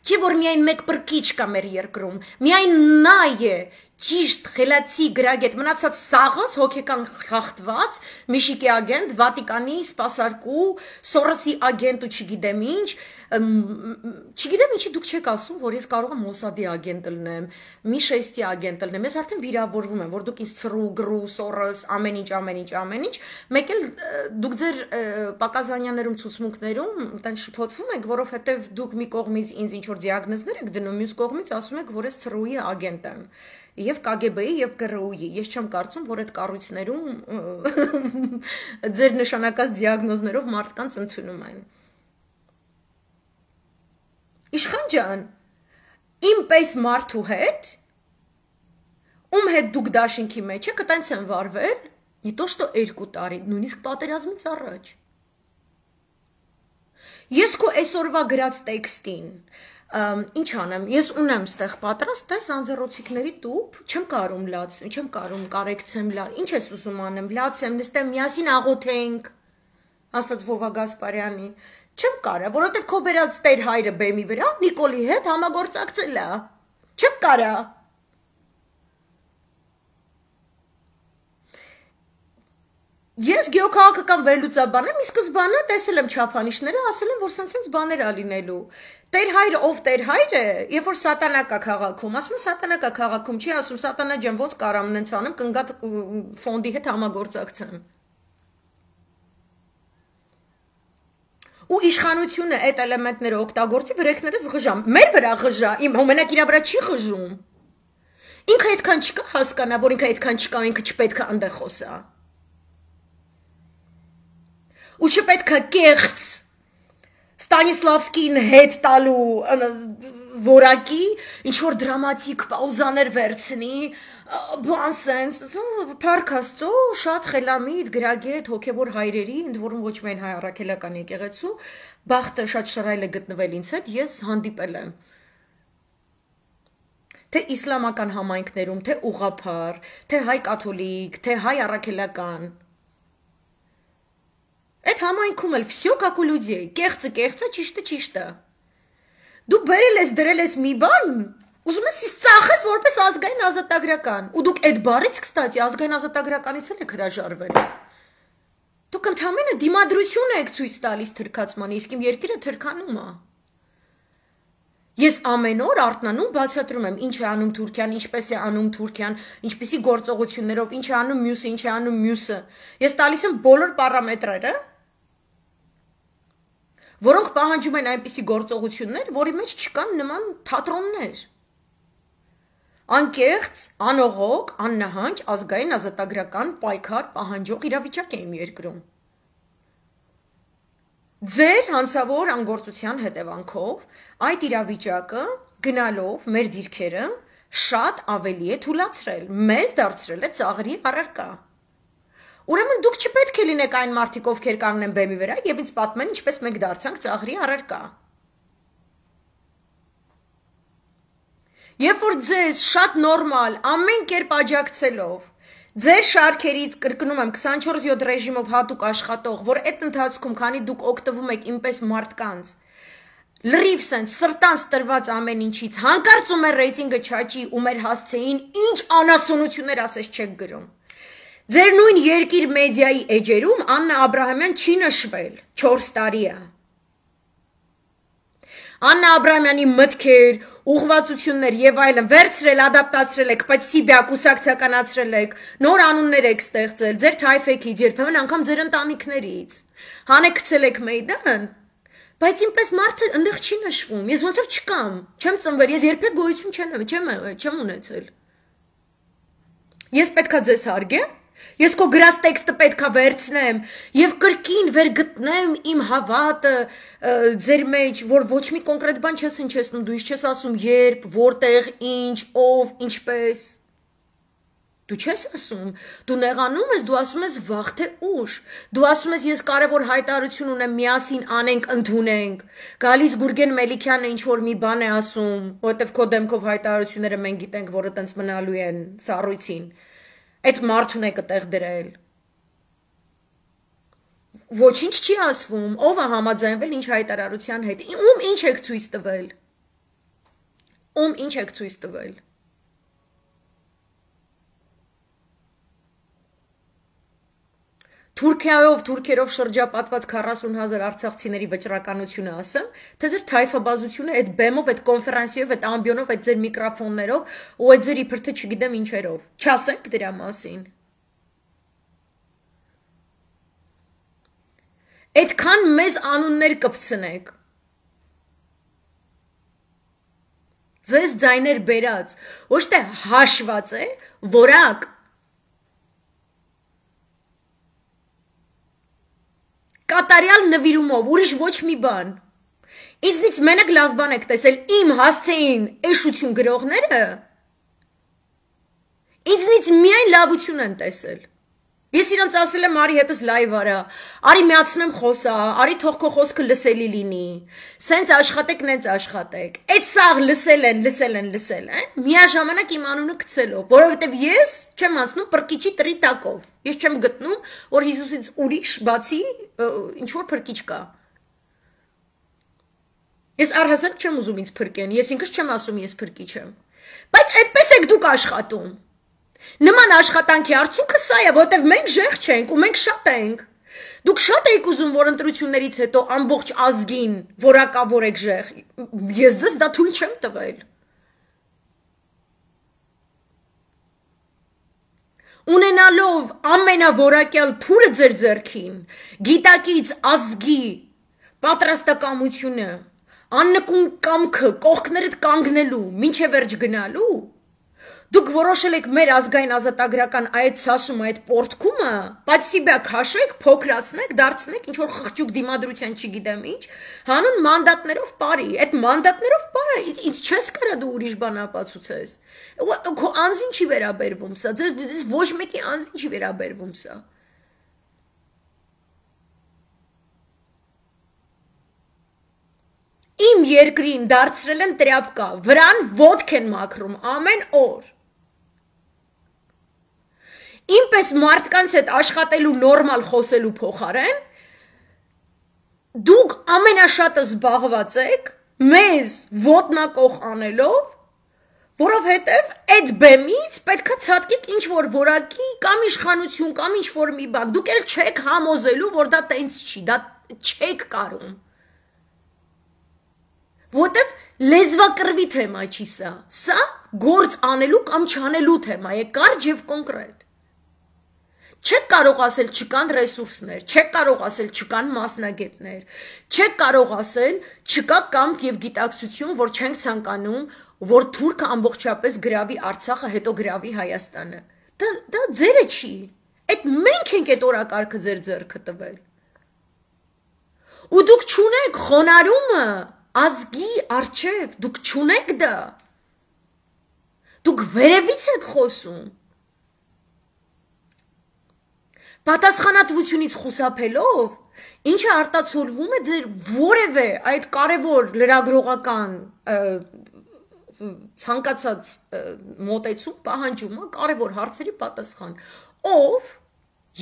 չի որ միայն մեկ պրկիչ կա մեր երկրում, միայն նա է, ճիշտ, խելացի, գրագետ, մնացած սաղս, հոգեկան խախտված, Միշիկի ագենտ, Վատիկանի սպասարկու, Սորոսի ագենտ ու չգիտեմ ինչ, չգիտեմ ինչի դուք չեք ասում, որ ես կարող եմ Մոսադի ագենտ լնեմ, Միշեստի ագենտ լնեմ, ես արդեն վիրավորվում եմ, որ դուք ինձ ցրու, գրու, Սորոս, ամեն ինչ, մեկ էլ դուք ձեր Պակազանյաներում ցուցմունքներում տեն շփոթվում եք, որովհետև դուք մի կողմից ինձ ինչ որ դիագնոզներ եք դնում, մյուս կողմից ասում եք, որ ես ցրուի ագենտ եմ։ Եվ KGB-ի եւ ԿՌՈՒ-ի, ես չեմ կարծում, որ այդ կառույցներում ձեր նշանակած դիագնոզներով մարդկանց ընդունում են։ Իշխան ջան, իմ պես մարդու հետ, ում հետ դուք դաշինքի մեջ եք, տենց են վարվել, не то что 2 տարի, նույնիսկ պատերազմից առաջ։ Ես քո այսօրվա գրած տեքստին ինչ անեմ, ես ունեմ ստեղ պատրաստ, տես անձեռոցիկների տուփ, չեմ կարում լացեմ, չեմ կարում կարեկցեմ, ինչ ես ուզում անեմ, լացեմ, նստեմ միասին աղոթենք, ասաց Վովա Գասպարյանի, չեմ կարա, որովհետև քո բերած տեր հայրը բեմի վրա Նիկոլի հետ համագործակցել է, չեմ կարա։ Ես գեոքաղաքական վերլուծաբան եմ, ի սկզբանե տեսել եմ չափանիշները, ասել եմ, որ սենց բաներ ա լինելու։ Տեր հայրը, ով տեր հայրը, երբ որ սատանա կա քաղաքում, ասում է սատանա կա քաղաքում, չի ասում սատանա ջան, ոնց կարամ նենց անեմ, կնգատ ֆոնդի հետ համագործակցեմ։ Ու իշխանությունը այդ էլեմենտները օգտագործի վրեքներս ղժամ, մեր վրա ղժա, իմ մենակ իրա վրա չի ղժում։ Ինքը այդքան չկա հասկանա, որ ինքը այդքան չկա, ինքը չպետք է այնտեղ խոսա։ Ու չպետք է կեղծ Ստանիսլավսկին հետ տալու որակի, ինչ-որ դրամատիկ պաուզաներ վերցնի, բան սենց, փառք Աստծո, շատ խելամիտ, գրագետ, հոգևոր հայրերի, ընդ որում ոչ միայն հայ առաքելական եկեղեցու, բախտը շատ շռայլ է գտնվել ինձ հետ, ես հանդիպել եմ։ թե իսլամական համայնքներում, թե ուղղափառ, թե հայ կաթոլիկ, թե հայ առաքելական։ Այդ համայնքում էլ всё как у людей, կեղծը, ճիշտը, ճիշտը։ Դու բերել ես, դրել ես մի բան, ուզում ես ծախես որպես ազգային ազատագրական, ու դուք այդ բառից, կստացի, ազգային ազատագրականից էլ եք հրաժարվել։ Դուք ընդհանրապես դիմադրություն եք ցույց տալիս թրքացման, իսկ իմ երկիրը թրքանում է։ Ես ամեն օր արթնանում բացատրում եմ, ինչ է անում Թուրքիան, ինչպես է անում Թուրքիան, ինչպիսի գործողություններով, ինչ է անում մյուսը, ինչ է անում մյուսը։ Ես տալիս եմ բոլոր պարամետրերը, որոնք պահանջում են այնպիսի գործողություններ, որի մեջ չկան նման թատրոններ։ Անկեղծ, անողոք, աննահանջ, ազգային ազատագրական պայքար պահանջող իրավիճակ է իմ երկրում։ Ձեր հանցավոր անգործության հետևանքով այդ իրավիճակը գնալով մեր դիրքերը շատ ավելի է թուլացրել, մեզ դարձրել է ծաղրի առարկա։ Ուրեմն դուք չպետք է լինեք այն մարդիկ, ովքեր կանգնեն բեմի վրա եւ ինձ պատմեն, ինչպես մենք դարձանք ծաղրի առարկա։ Երբ որ ձեզ շատ նորմալ, ամեն կերպ աջակցելով, ձեր շարքերից կրկնում եմ 24/7 ռեժիմով հատուկ աշխատող, որ այդ ընթացքում, քանի դուք օգտվում եք ինպես մարդկանց, լրիվ սենց սրտանց տրված ամեն ինչից, հանկարծ ու մեր ռեյտինգը չաճի ու մեր հասցեին ինչ անասունություններ ասես չեք գրում։ Ձեր նույն երկիր մեդիայի էջերում Աննա Աբրահամյան չի նշվել, 4 տարի է։ Աննա Աբրահամյանի մտքեր, ուղղվածություններ եւ այլն վերցրել, ադապտացրել եք, պացիբիա կուսակցականացրել եք, նոր անուններ եք ստեղծել, ձեր թայֆեքից, երբեմն անգամ ձեր ընտանիքներից։ Հանեկցել եք Մեյդան, բայց ինպես մարդը այնտեղ չի նշվում։ Ես ոնց որ չկամ, չեմ ծնվել, ես երբեք գոյություն չեմ ունեցել։ Ես պետքա ձեզ հարգեմ։ Ես քո գրած տեքստը պետքա վերցնեմ եւ կրկին վերգտնեմ իմ հավատը ձեր մեջ, որ ոչ մի կոնկրետ բան չես հնչեցնում, դու ինչ չես ասում, երբ, որտեղ, ինչ, ով, ինչպես։ Դու չես ասում, դու նեղանում ես, դու ասում ես վաղ թե ուշ։ Դու ասում ես ես կարևոր հայտարարություն ունեմ, միասին անենք, ընդունենք։ Գալիս Գուրգեն Մելիքյանը ինչ որ մի բան է ասում, որովհետեւ քո դեմքով հայտարարությունները մենք գիտենք, որը տենց մնալու են սառույցին։ Այդ մարդուն եք տեղ դրել։ Ոչինչ չի ասվում, ով է համաձայնվել ինչ հայտարարության հետ, ում ինչ եք ցույց տվել։ Ում ինչ եք ցույց տվել։ Թուրքերով շրջապատված 40,000 արցախցիների վճռականությունը ասեմ, թե ձեր թայֆաբազությունը այդ բեմով, այդ կոնֆերանսիով, այդ ամբիոնով, այդ ձեր միկրոֆոններով ու այդ ձեր իբրթե չգիտեմ ինչերով։ Չասենք դրա մասին։ Այդքան մեզ անուններ կպցնեք։ Ձեզ ձայներ բերած, ոչ թե հաշված է, որակ կատարյալ նվիրումով, ուրիշ ոչ մի բան։ Ինձնից մենակ լավ բան եք տեսել, իմ հասցեին էշություն գրողները, ինձնից միայն լավություն են տեսել։ Ես իրանց ասել եմ, արի հետս լայվ արա, արի միացնեմ խոսա, արի թող քո խոսքը լսելի լինի, սենց աշխատեք, նենց աշխատեք։ Այդ սաղ լսել են, միաժամանակ իմ անունը գցելով, որովհետև ես չեմ անցնում պրկիչի տրի տակով։ Ես չեմ գտնում, որ Հիսուսից ուրիշ բացի ինչ որ փրկիչ կա։ Ես առհասարակ չեմ ուզում ինձ փրկեն, ես ինքս չեմ ասում ես փրկիչ եմ։ Բայց այդպես եք դուք աշխատում։ Նման աշխատանքի արդյունքը սա է, որտեվ մենք ժեղ չենք ու մենք շատ ենք։ Դուք շատ եք ուզում, որ ընտրություններից հետո ամբողջ ազգին որակավորեք ժեղ։ Ես ձեզ դա թույլ չեմ տվել։ Ունենալով ամենավորակյալ թուրը ձեր ձեռքին, գիտակից ազգի պատրաստակամությունը, աննկուն կամքը, կողքներդ կանգնելու, մինչև վերջ գնալու, դուք որոշել եք մեր ազգային ազատագրական այդ սասումը, այդ պորտքումը, պացիբիա քաշեք, փոքրացնեք, դարձնեք, ինչ որ խղճուկ դիմադրության չգիտեմ ինչ, հանուն մանդատներով բարի, այդ մանդատներով բարի, ինձ չես կարա դու ուրիշ բան ապացուցես։ Քո անձին չի վերաբերվում սա, ձեզ ոչ մեկի անձին չի վերաբերվում սա։ Իմ երկրին դարձրել են տրապկա, վրան ոտք են մաքրում ամեն օր։ Իմպես մարդկանց հետ աշխատելու նորմալ խոսելու փոխարեն դուք ամենաշատը զբաղված եք մեզ ոտնակող անելով, որովհետև այդ բեմից պետքա ցածկեք ինչ-որ որակի կամ իշխանություն կամ ինչ-որ մի բան, դուք էլ չեք համոզելու, որ դա տենց չի, դա չեք կարում։ Որտև լեզվակռվի թեմա չի սա գործ անելու կամ չանելու թեմա է, կարճ եւ կոնկրետ։ Չեք կարող ասել չկան ռեսուրսներ, չեք կարող ասել չկան մասնագետներ, չեք կարող ասել չկա կամք եւ գիտակցություն, որ չենք ցանկանում, որ թուրքը ամբողջապես գրավի Արցախը, հետո գրավի Հայաստանը։ Դա ձերը չի։ Այդ մենք ենք այդ օրակարգը ձեր ձեռքը տվել։ Ու դուք չունեք խոնարհումը ազգի արչև, դուք չունեք դա։ Դուք վերևից եք խոսում։ Պատասխանատվությունից խուսափելով, ինչը արտացոլվում է ձեր որևէ այդ կարևոր լրագրողական ցանկացած մոտեցում պահանջում է կարևոր հարցերի պատասխան։ Ով,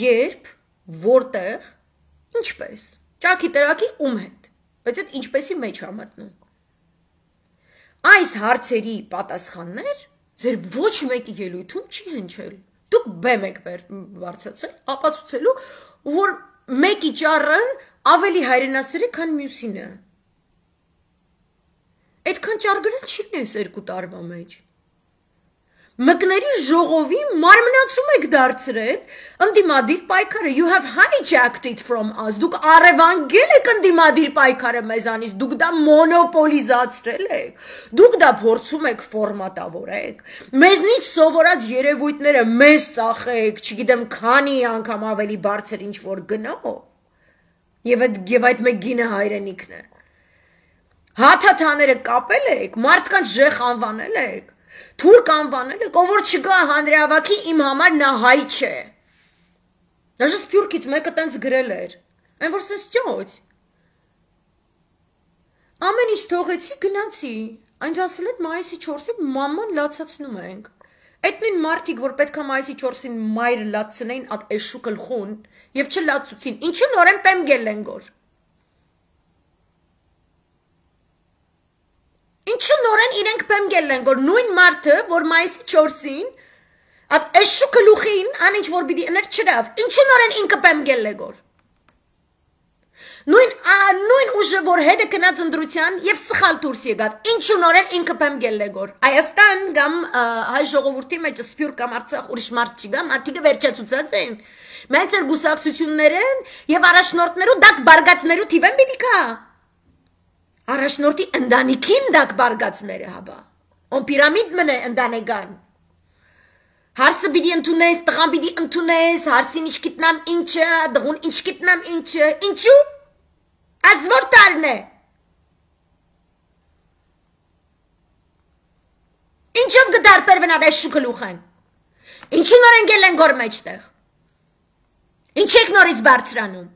երբ, որտեղ, ինչպես, ճաքի տրակի ում հետ, բայց այդ ինչպեսի մեջ է մտնում։ Այս հարցերի պատասխաններ ձեր ոչ մեկի ելույթում չի հնչել։ Դուք բեմ եք բարձրացել, ապացուցելու, որ մեկի ճառը ավելի հայրենասեր է, քան մյուսինը։ Այդքան ճառ գրել չի նես 2 տարվա մեջ։ Մկների ժողովի մարմնացում եք դարձրել ընդդիմադիր պայքարը, you have hijacked it from us, դուք առևանգել եք ընդդիմադիր պայքարը մեզանից, դուք դա մոնոպոլիզացրել եք, դուք դա փորձում եք ֆորմատավորեք, մեզնից սովորած երևույթները մեզ ծախեք, չգիտեմ քանի անգամ ավելի բարձր ինչ-որ գնով, եւ այդ մեկ գինը հայրենիքն է, հաթաթաները կապել եք, մարդկանց ժեխ անվանել եք, թուրք անվանել եք, ով որ չգա հանրահավաքի իմ համար նա հայ չէ։ Даже Սփյուռքից մեկը տենց գրել էր, այն որ սենց ճոճ։ Ամեն ինչ թողեցի, գնացի, այնց ասել են մայիսի 4-ին մաման լացացնում ենք։ Այդ նույն մարդիկ, որ պետքա մայիսի 4-ին մայրը լացնեին ատ էշու գլխուն եւ չլացուցին, ինչու նորեն պեմ գելեն գոր։ Ինչու նորեն իրենք պեմ գելեն գոր նույն մարդը, որ մայիսի 4-ին ատ էշու գլուխին ան ինչ որ պիտի ըներ չրավ, ինչու նորեն ինքը պեմ գելե գոր։ Նույն ուժը, որ հետը գնաց ընտրության եւ սխալ դուրս եկավ, ինչու նորեն ինքը պեմ գելե գոր։ Հայաստան կամ հայ ժողովրդի մեջ Սփյուռք կամ Արցախ ուրիշ մարդ չի գա, մարդիկը վերջացուցած են։ Մեծ գուսակցություններն եւ առաջնորդներու դակ բարգացներու թիվեն պիտի կա։ Առաջնորդի ընտանիքին դակ բարգացները հաբա, on պիրամիդ մնե ընտանեկան, հարսը պիտի ընդունես, տղան պիտի ընդունես, հարսին ինչ գիտնամ ինչը, դղուն ինչ գիտնամ ինչը, ինչու, ազվոր տարն է, ինչով գդարպեր վնատ այս շուկլուխ են, ինչու նոր են գել են գոր մեջտեղ, ինչ եք նորից բարձրանում,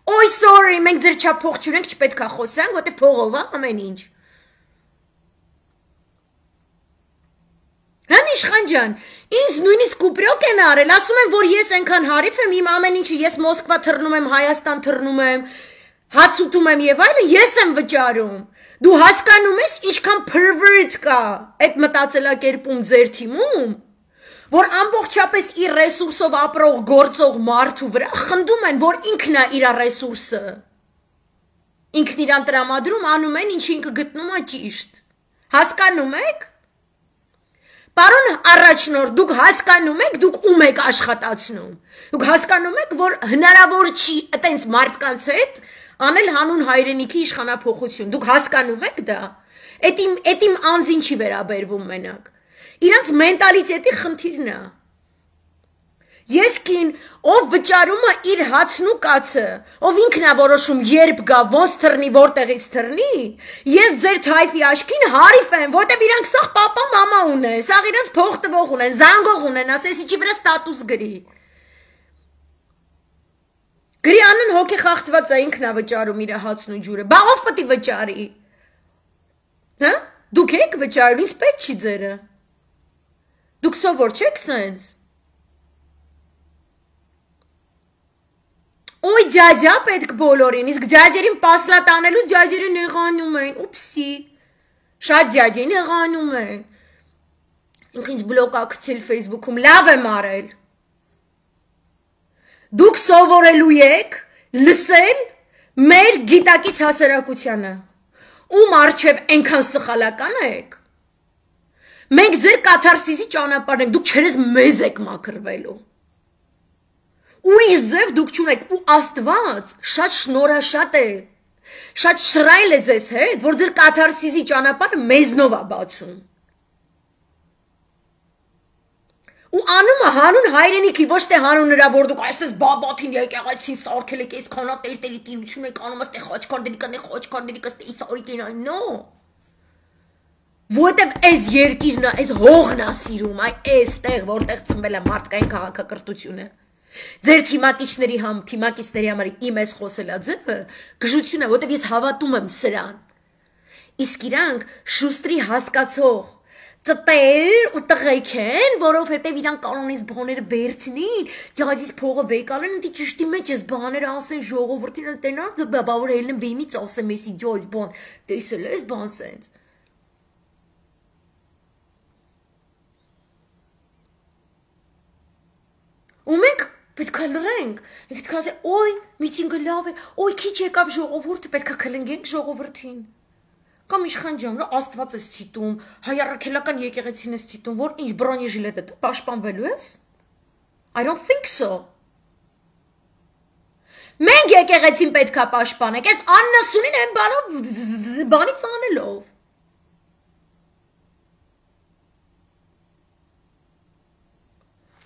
Ոյ sorry, մենք ձեր չափ փող չունենք, չպետք է խոսանք, որտե փողով է ամեն ինչ։ Հան իշխան ջան, ինձ նույնիսկ կուպրոկ են արել, ասում են, որ ես այնքան հարիվ եմ, իմ ամեն ինչը ես Մոսկվա թռնում եմ, Հայաստան թռնում եմ, հաց ուտում եմ եւ այլն, ես եմ վճարում։ Դու հասկանում ես ինչքան pervert կա այդ մտածելակերպում ձեր թիմում։ Որ ամբողջապես իր ռեսուրսով ապրող գործող մարդու վրա խնդում են, որ ինքն է իր ռեսուրսը։ Ինքն իրան տրամադրում անում են, ինչ ինքը գտնում է ճիշտ։ Հասկանում եք։ Պարոն առաջնորդ, դուք հասկանում եք, դուք ում եք աշխատացնում։ Դուք հասկանում եք, որ հնարավոր չի այտենց մարդկանց հետ անել հանուն հայրենիքի իշխանափոխություն։ Դուք հասկանում եք դա։ Այդ իմ անձին չի վերաբերվում մենակ։ Իրանց մենտալիտետի խնդիրն է։ Ես կին, ով վճարում է իր հացն ու կացը, ով ինքն է որոշում երբ գա, ոնց թռնի, որտեղից թռնի, ես ձեր թայֆի աշկին հարիվ եմ, որտեվ իրանք սաղ պապա մամա ունեն, սաղ իրանց փող տվող ունեն, զանգող ունեն, ասես իջի վրա ստատուս գրի։ Գրյանն հոգի խախտված է ինքն է վճարում իր հացն ու ջուրը։ Բա ով պետք է վճարի։ Հա? Դուք եք վճարում, ինձ պետք չի ձերը։ Դուք սովոր չեք սենց։ Ոյ ջաջա պետք բոլորին, իսկ ջաջերին պասլատ անելու ջաջերը նեղանում են, ուպսի։ Շատ ջաջին նեղանում են։ Ինք ինձ բլոկ ակցել Facebook-ում, լավ եմ արել։ Դուք սովորելու եք լսել մեր գիտակից հասարակությանը, ում արջև ենքան սխալական եք, մենք ձեր կաթարսիսի ճանապարհն ենք, դուք չերես մեզ եք մաքրվելու, ուրիշ ձև դուք չունեք, ու Աստված շատ շնորհաշատ է, շատ շռայլ է ձեզ հետ, որ ձեր կաթարսիսի ճանապարհը մեզնով է բացում, ու անումը հանուն հայրենիքի, ոչ թե հանուն նրա, որ դուք այսպես բաբաթին եկեղեցին սարքել եք, այս քանատերտերի տիրություն եք անում, աստե խոչքարդերի կստե իսարիքին այն, նո։ Որտև այս երկիրն է, այս հողն է սիրում, այստեղ, որտեղ ծնվել է մարդկային քաղաքակրթությունը։ Ձեր թիմակիցների համար իմ այս խոսելա ձևը գժություն է, որտև ես հավատում եմ սրան։ Իսկ իրանք շուստրի հասկացող ծտեր ու տղեկ են, որովհետև իրան կանոնից բաներ վերցնին, ջազից փողը վեկալեն, դի ճշտի մեջ ես բաներ ասեն ժողովրդին տենած, բա որ ելնեմ բեմից ասեմ էսի ջոյ բան, տեսել ես բան սենց։ Ու մենք պետք է լռենք, պետք է ասենք, օй, միտինգը լավ է, օй, քիչ եկավ ժողովուրդը, պետք է քլնգենք ժողովրդին։ Կամ իշխան ջան, Աստված ես ցիտում, հայ առաքելական եկեղեցին ես ցիտում, որ ինչ բրոնեժիլետը դու պաշտպանվելու ես? I don't think so. Մենք եկեղեցին պետք է պաշտպանենք, այս աննասունին այն բանից անելով։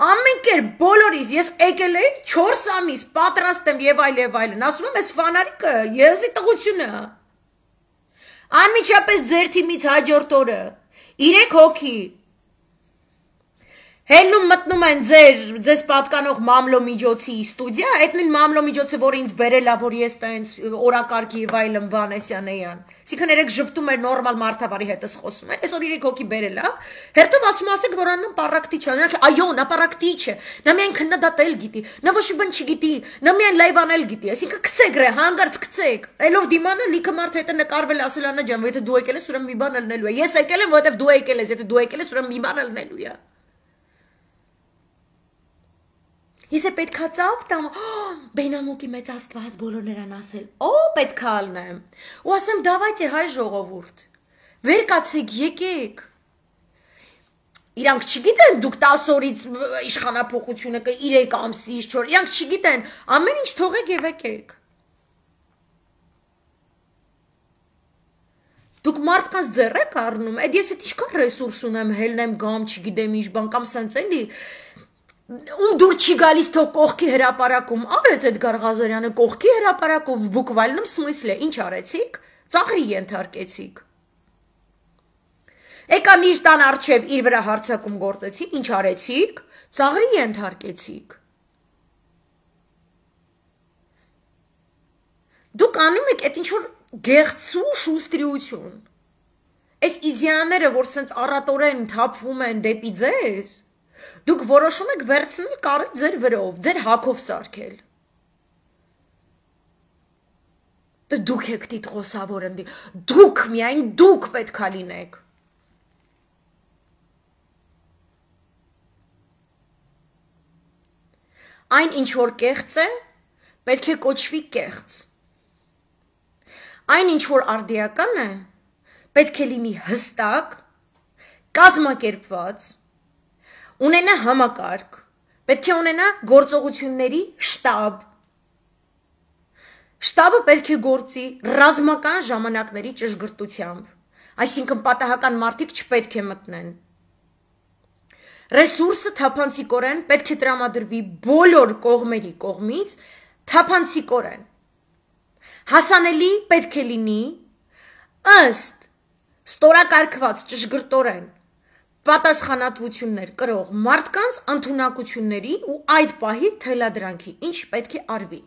Ամեն կերպ բոլորիս ես եկել էի 4 ամիս պատրաստ եմ եւ այլն, ասում եմ այս ֆանարիկը եզի տղությունը։ Անմիջապես ձեր թիմից հաջորդ օրը 3 հոգի հելնում մտնում են ձեզ պատկանող մամլո միջոցի ստուդիա, այդ նույն մամլո միջոցը, որ ինձ բերել է, որ ես տենց օրակարգի եւ այլն Վանեսյանեյան։ Այսինքն երեք ժպտում էր նորմալ մարդավարի հետ ես խոսում են, այսօր 3 հոգի բերել է, հերթով ասեք, որ աննան պարակտիչ է, այո, նա պարակտիչ է, նա միայն քննադատել գիտի, նա ոչ մի բան չգիտի, նա միայն լայվ անել գիտի, այսինքն գցեք ռե, հանգարց գցեք, այլով դիմանա լիքը մարդ հետ է նկարվել ասել Աննա ջան, եթե դու եկել ես, ուրեմն մի բան ելնելու է, ես եկել եմ, որովհետեւ դու եկել ես, եթե դու եկել ես, ուրեմն մի բան ելնելու է։ Ես է պետքա ծապ տամ, բենամուկի մեծ Աստված բոլոր նրան ասել, պետքա ալնեմ, ու ասեմ դավայտե հայ ժողովուրդ, վեր կացեք, եկեք, իրանք չգիտեն դուք 10 օրից իշխանափոխությունը 3 ամսից 4, իրանք չգիտեն, ամեն ինչ թողեք եւ եկեք։ Դուք մարդկանց ձեռ եք առնում, այդ ես էդ ինչքան ռեսուրս ունեմ, հելնեմ գամ, չգիտեմ ինչ բան կամ սենց էլի Ում դուր չի գալիս թող կողքի հրապարակում, արեց այդ Գարղազարյանը կողքի հրապարակով բուկվալնում սմիսլ է, ինչ արեցիք, ծաղրի ենթարկեցիք։ Եկան իր տան առջև իր վրա հարցակում գործեցին, ինչ արեցիք, ծաղրի ենթարկեցիք։ Դուք անում եք այդ ինչ-որ գեղցու շուստրիություն, այս իդեաները, որ սենց առատորեն թափվում են դեպի ձեզ, դուք որոշում եք վերցնել կարել ձեր վրով, ձեր հակով սարքել։ Դուք եք տիտղոսավոր ընդի, դուք միայն դուք պետք է լինեք։ Այն ինչ որ կեղծ է, պետք է կոչվի կեղծ։ Այն ինչ որ արդիական է, պետք է լինի հստակ, կազմակերպված, ունենա համակարգ, պետք է ունենա գործողությունների շտաբ։ Շտաբը պետք է գործի ռազմական ժամանակների ճշգրտությամբ, այսինքն պատահական մարդիկ չպետք է մտնեն։ Ռեսուրսը թափանցիկորեն պետք է տրամադրվի բոլոր կողմերի կողմից, թափանցիկորեն։ Հասանելի պետք է լինի ըստ ստորակարգված ճշգրտորեն պատասխանատվություններ կրող մարդկանց ընդունակությունների ու այդ պահի թելադրանքի, ինչ պետք է արվի։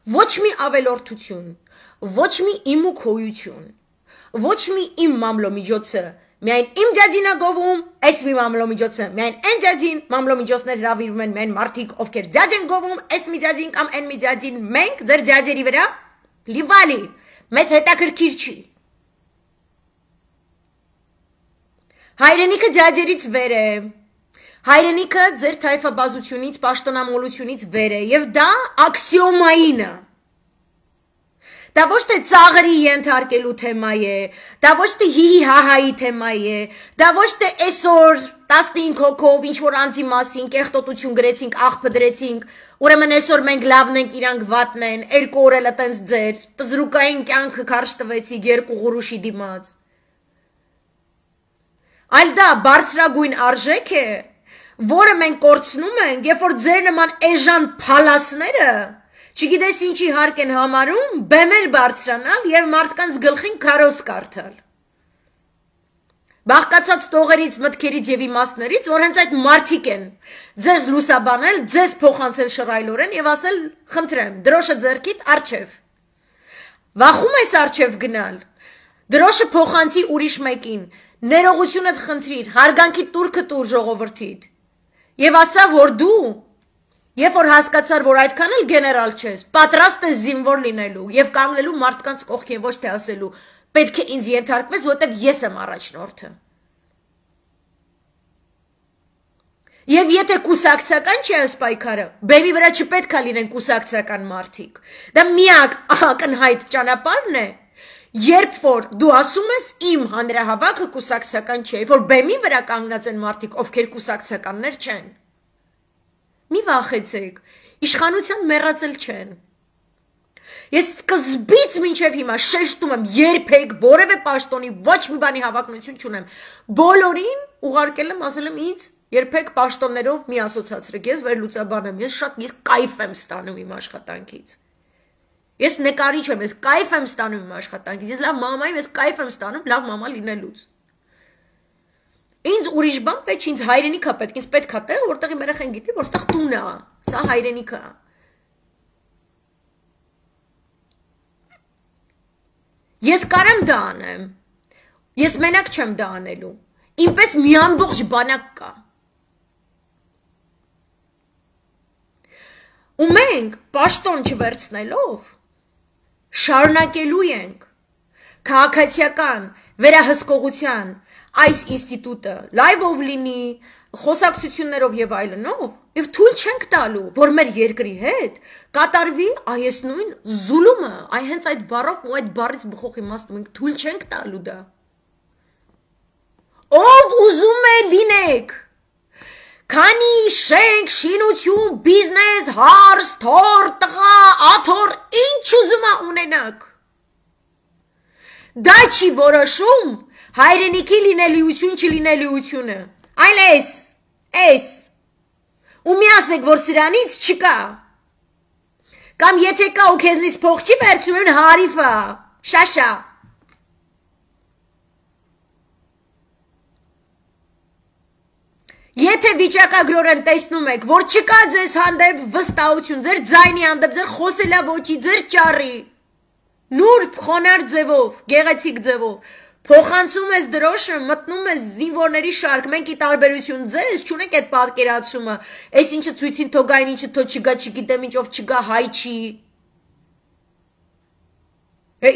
ոչ մի ավելորդություն, ոչ մի իմ ու քոյություն, ոչ մի իմ մամլոմիջոցը, միայն իմ ձյաձին է գովում, այս մի մամլոմիջոցը, միայն այն ձյաձին մամլոմիջոցներ հրավիրվում են միայն մարդիկ, ովքեր ձյաձ են գովում, այս մի ձյաձին կամ այն մի ձյաձին, մենք ձեր ձյաձերի վրա լիվալի, մեզ հետաքրքիր չի։ Հայրենիքը ձյաձերից վեր է, հայրենիքը ձեր թայֆաբազությունից, պաշտոնամոլությունից վեր է, և դա աքսիոմային է։ Դա ոչ թե ծաղրի ենթարկելու թեմա է, դա ոչ թե հիհի հահայի թեմա է, դա ոչ թե այսօր 15 հոգով ինչ-որ անձի մասին կեղտոտություն գրեցինք, աղբը դրեցինք, ուրեմն այսօր մենք լավն ենք, իրանք վատն են, 2 օր էլ տենց ձեր, տզրուկային կյանքը քարշ տվեցիք 2 ղուրուշի դիմաց։ Այլ դա բարձրագույն արժեք է, որը մենք կորցնում ենք, երբ որ ձեր նման էժան փալասները չգիտես ինչի հարկ են համարում, բեմել բարձրանալ և մարդկանց գլխին քարոզ կարդալ։ Բաղկացած տողերից, մտքերից և իմաստներից, որ հենց այդ մարդիկ են ձեզ լուսաբանել, ձեզ փոխանցել շռայլորեն և ասել, խնդրեմ, դրոշը ձեռքիդ առջև։ Վախում ես առջև գնալ, դրոշը փոխանցի ուրիշ մեկին, ներողությունդ խնդրիր, հարգանքի տուրքը տուր ժողովրդիդ։ Եվ ասա, որ դու, երբ որ հասկացար, որ այդքան էլ գեներալ չես, պատրաստ ես զինվոր լինելու և կանգնելու մարդկանց կողքին, ոչ թե ասելու, պետք է ինձ ենթարկվես, որտեղ ես եմ առաջնորդը։ Եվ եթե կուսակցական չի այս պայքարը, բեմի վրա չպետք է լինեն կուսակցական մարդիկ։ Դա միակ ակնհայտ ճանապարհն է, երբ որ դու ասում ես իմ հանրահավաքը կուսակցական չէ, որ բեմի վրա կանգնած են մարդիկ, ովքեր կուսակցականներ չեն։ Մի վախեցեք, իշխանության մեռածել չեն։ Ես սկզբից մինչև հիմա շեշտում եմ, երբեք որևէ պաշտոնի ոչ մի բանի հավակնություն չունեմ։ Բոլորին ուղարկել եմ, ասել եմ ինձ երբեք պաշտոններով մի ասոցացրեք, ես վերլուծաբան եմ, ես շատ կայֆ եմ ստանում իմ աշխատանքից։ Ես նկարիչ եմ, ես կայֆ եմ ստանում իմ աշխատանքից, ես լավ մամա եմ, ես կայֆ եմ ստանում լավ մամա լինելուց։ Ինձ ուրիշ բան պետք, ինձ հայրենիքա պետք, ինձ պետք է տեղ, որտեղ իմ երեխան գիտի, որ ստեղ տունն է, սա հայրենիքա։ Ես կարեմ դա անեմ, ես մենակ չեմ դա անելու, ինպես մի ամբողջ բանակ կա։ Ու մենք պաշտոն չվերցնելով շարունակելու ենք քաղաքացիական վերահսկողության այս ինստիտուտը լայվով լինի, խոսակցություններով և այլնով, և թույլ չենք տալու, որ մեր երկրի հետ կատարվի այս նույն զուլումը, հենց այդ բառով ու այդ բառից բխող իմաստով մենք թույլ չենք տալու դա։ Ով ուզում է լինեք, քանի շենք, շինություն, բիզնես, հարս, թոր, տղա, աթոռ, ինչ ուզում է ունենաք։ Դա չի որոշում հայրենիքի լինելիություն չլինելիությունը, այլ էս, ու մի ասեք, որ սրանից չկա, կամ եթե կա ու քեզնից փող չի վերցնում, հարիֆա, շաշա։ Եթե վիճակագրորեն տեսնում եք, որ չկա ձեզ հանդեպ վստահություն, ձեր ձայնի հանդեպ, ձեր խոսելավոճի, ձեր ճառի, նուրբ, խոնարհ ձևով, գեղեցիկ ձևով, փոխանցում ես դրոշը, մտնում ես զինվորների շարք, մենք ի տարբերություն ձեզ չունենք այդ պատկերացումը, այս ինչը ցույցին թողային, ինչը թո չգա, չգիտեմ ինչ, ով չգա, հայ չի։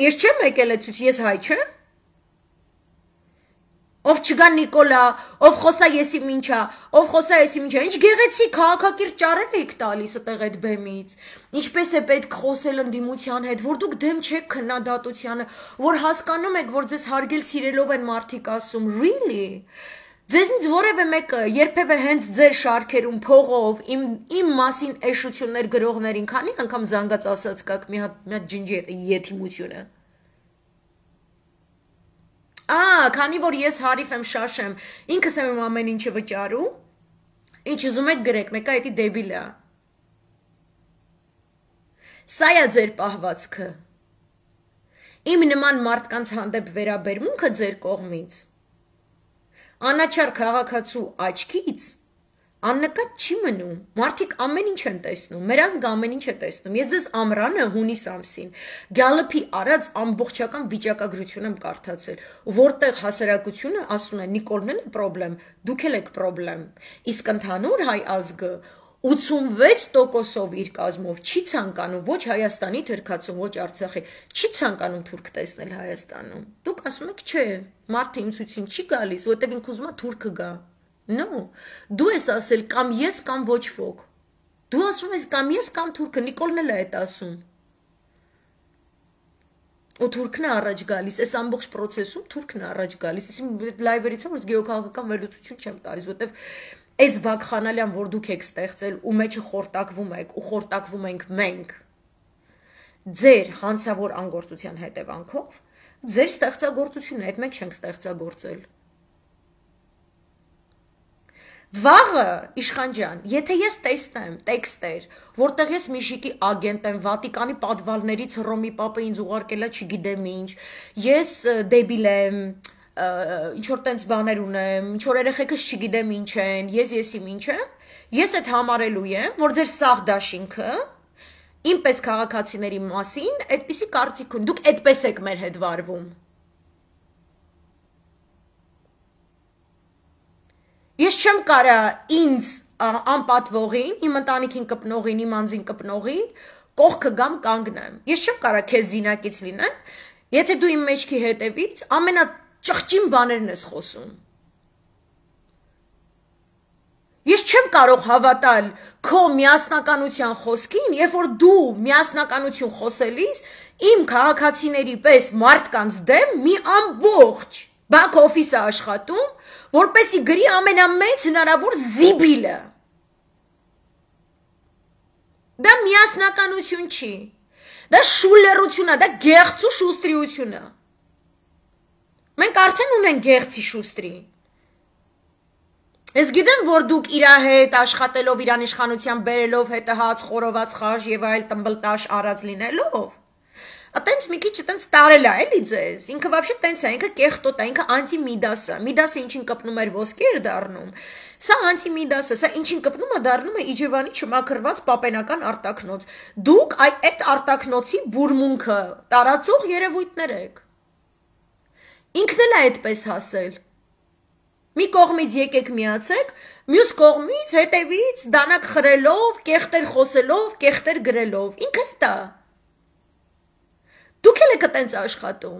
Ես չեմ եկել այդ ցույց, ես հայ չեմ։ Ով չգա Նիկոլա, ով խոսա եսի մինչա, ով խոսա եսի մինչա, ինչ գեղեցիկ քաղաքակիրթ ճառեր եք տալիս այդտեղ այդ բեմից, ինչպես է պետք խոսել ընդդիմության հետ, որ դուք դեմ չեք քննադատությանը, որ հասկանում եք, որ ձեզ հարգել սիրելով են մարդիկ ասում, really, ձեզնից որևէ մեկը երբևէ հենց ձեր շարքերում փողով իմ մասին էշություններ գրողներին քանի անգամ զանգած ասած կաք մի հատ ջնջի եթիմությունը։ Քանի որ ես հարիվ եմ, շաշ եմ, ինքս եմ ամեն ինչը վճարում, ինչ ուզում եք գրեք, մեկը այդի դեբիլ է։ Սա է ձեր պահվածքը։ Իմ նման մարդկանց հանդեպ վերաբերմունքը ձեր կողմից, անաչառ քաղաքացու աչքից, Աննկատ չի մնում, մարդիկ ամեն ինչ են տեսնում, մեր ազգը ամեն ինչ է տեսնում, ես ձեզ ամռանը հունիս ամսին, գալպի արած ամբողջական վիճակագրություն եմ կարդացել, որտեղ հասարակությունը ասում է Նիկոլն էլ է պրոբլեմ, դուք էլ եք պրոբլեմ, իսկ ընդհանուր հայ ազգը 86%-ով իր կազմով չի ցանկանում ոչ Հայաստանի թերքացում, ոչ Արցախի, չի ցանկանում թուրք տեսնել Հայաստանում, դուք ասում եք չէ, մարդը իմ ցույցին չի գալիս, որտեղ ինքը ուզում է թուրքը գա No, դու ես ասել կամ ես կամ ոչ ոք, դու ասում ես կամ ես կամ թուրքը, Նիկոլն էլ է այդ ասում, ու թուրքն է առաջ գալիս, այս ամբողջ պրոցեսում թուրքն է առաջ գալիս, իսկ լայվերից եմ, որ գեոքաղաքական վերլուծություն չեմ տալիս, որտեվ այս վակխանալյան, որ դուք եք ստեղծել ու մեջը խորտակվում եք ու խորտակվում ենք մենք, ձեր հանցավոր անգործության հետևանքով, ձեր ստեղծագործությունը, այդ մենք չենք ստեղծագործել, Վաղը, Իշխան ջան, եթե ես տեսնեմ տեքստեր, որտեղ ես Միշիկի ագենտ եմ, Վատիկանի պատվալներից Հռոմի պապը ինձ ուղարկելա չգիտեմ ինչ, ես դեբիլ եմ, ինչ-որ տենց բաներ ունեմ, ինչ-որ երեխեքս չգիտեմ ինչ են, եսիմ ինչ եմ, ես այդ համարելու եմ, որ ձեր սաղ դաշինքը, իմպես քաղաքացիների մասին, այդպիսի կարծիք ունի, դուք այդպես եք մեր հետ վարվում։ Ես չեմ կարա ինձ անպատվողին, իմ ընտանիքին կպնողին, իմ անձին կպնողի, կողքը գամ կանգնեմ։ Ես չեմ կարա քեզ զինակից լինեմ, եթե դու իմ մեջքի հետևից ամենաճղճին բաներն ես խոսում։ Ես չեմ կարող հավատալ քո միասնականության խոսքին, երբ որ դու միասնականություն խոսելիս իմ քաղաքացիների պես մարդկանց դեմ մի ամբողջ Back office-ը աշխատում, որպեսի գրի ամենամեծ հնարավոր զիբիլը։ Դա միասնականություն չի, դա շուլերություն է, դա գեղձու շուստրիություն է։ Մենք արդեն ունենք գեղձի շուստրի։ Ես գիտեմ, որ դուք իրա հետ աշխատելով, իրան իշխանության բերելով, հետը հաց, խորոված խաշ և այլ տմբլտաշ արած լինելով, Ատենց մի քիչ տենց տարել է, էլի ձեզ, ինքը вообще տենց է, ինքը կեղտոտ է, ինքը անտի-միդաս է, միդասը ինչին կպնում էր ոսկի էր դառնում, սա անտի-միդաս է, սա ինչին կպնում է դառնում է Իջևանի չմաքրված պապենական արտաքնոց, դուք այդ արտաքնոցի բուրմունքը տարածող երևույթներ եք, ինքն էլ է այդպես հասել, մի կողմից եկեք միացեք, մյուս կողմից հետևից դանակ խրելով, կեղտեր խոսելով, կեղտեր գրելով, ինքը հետ է Դուք էլ եք տենց աշխատում,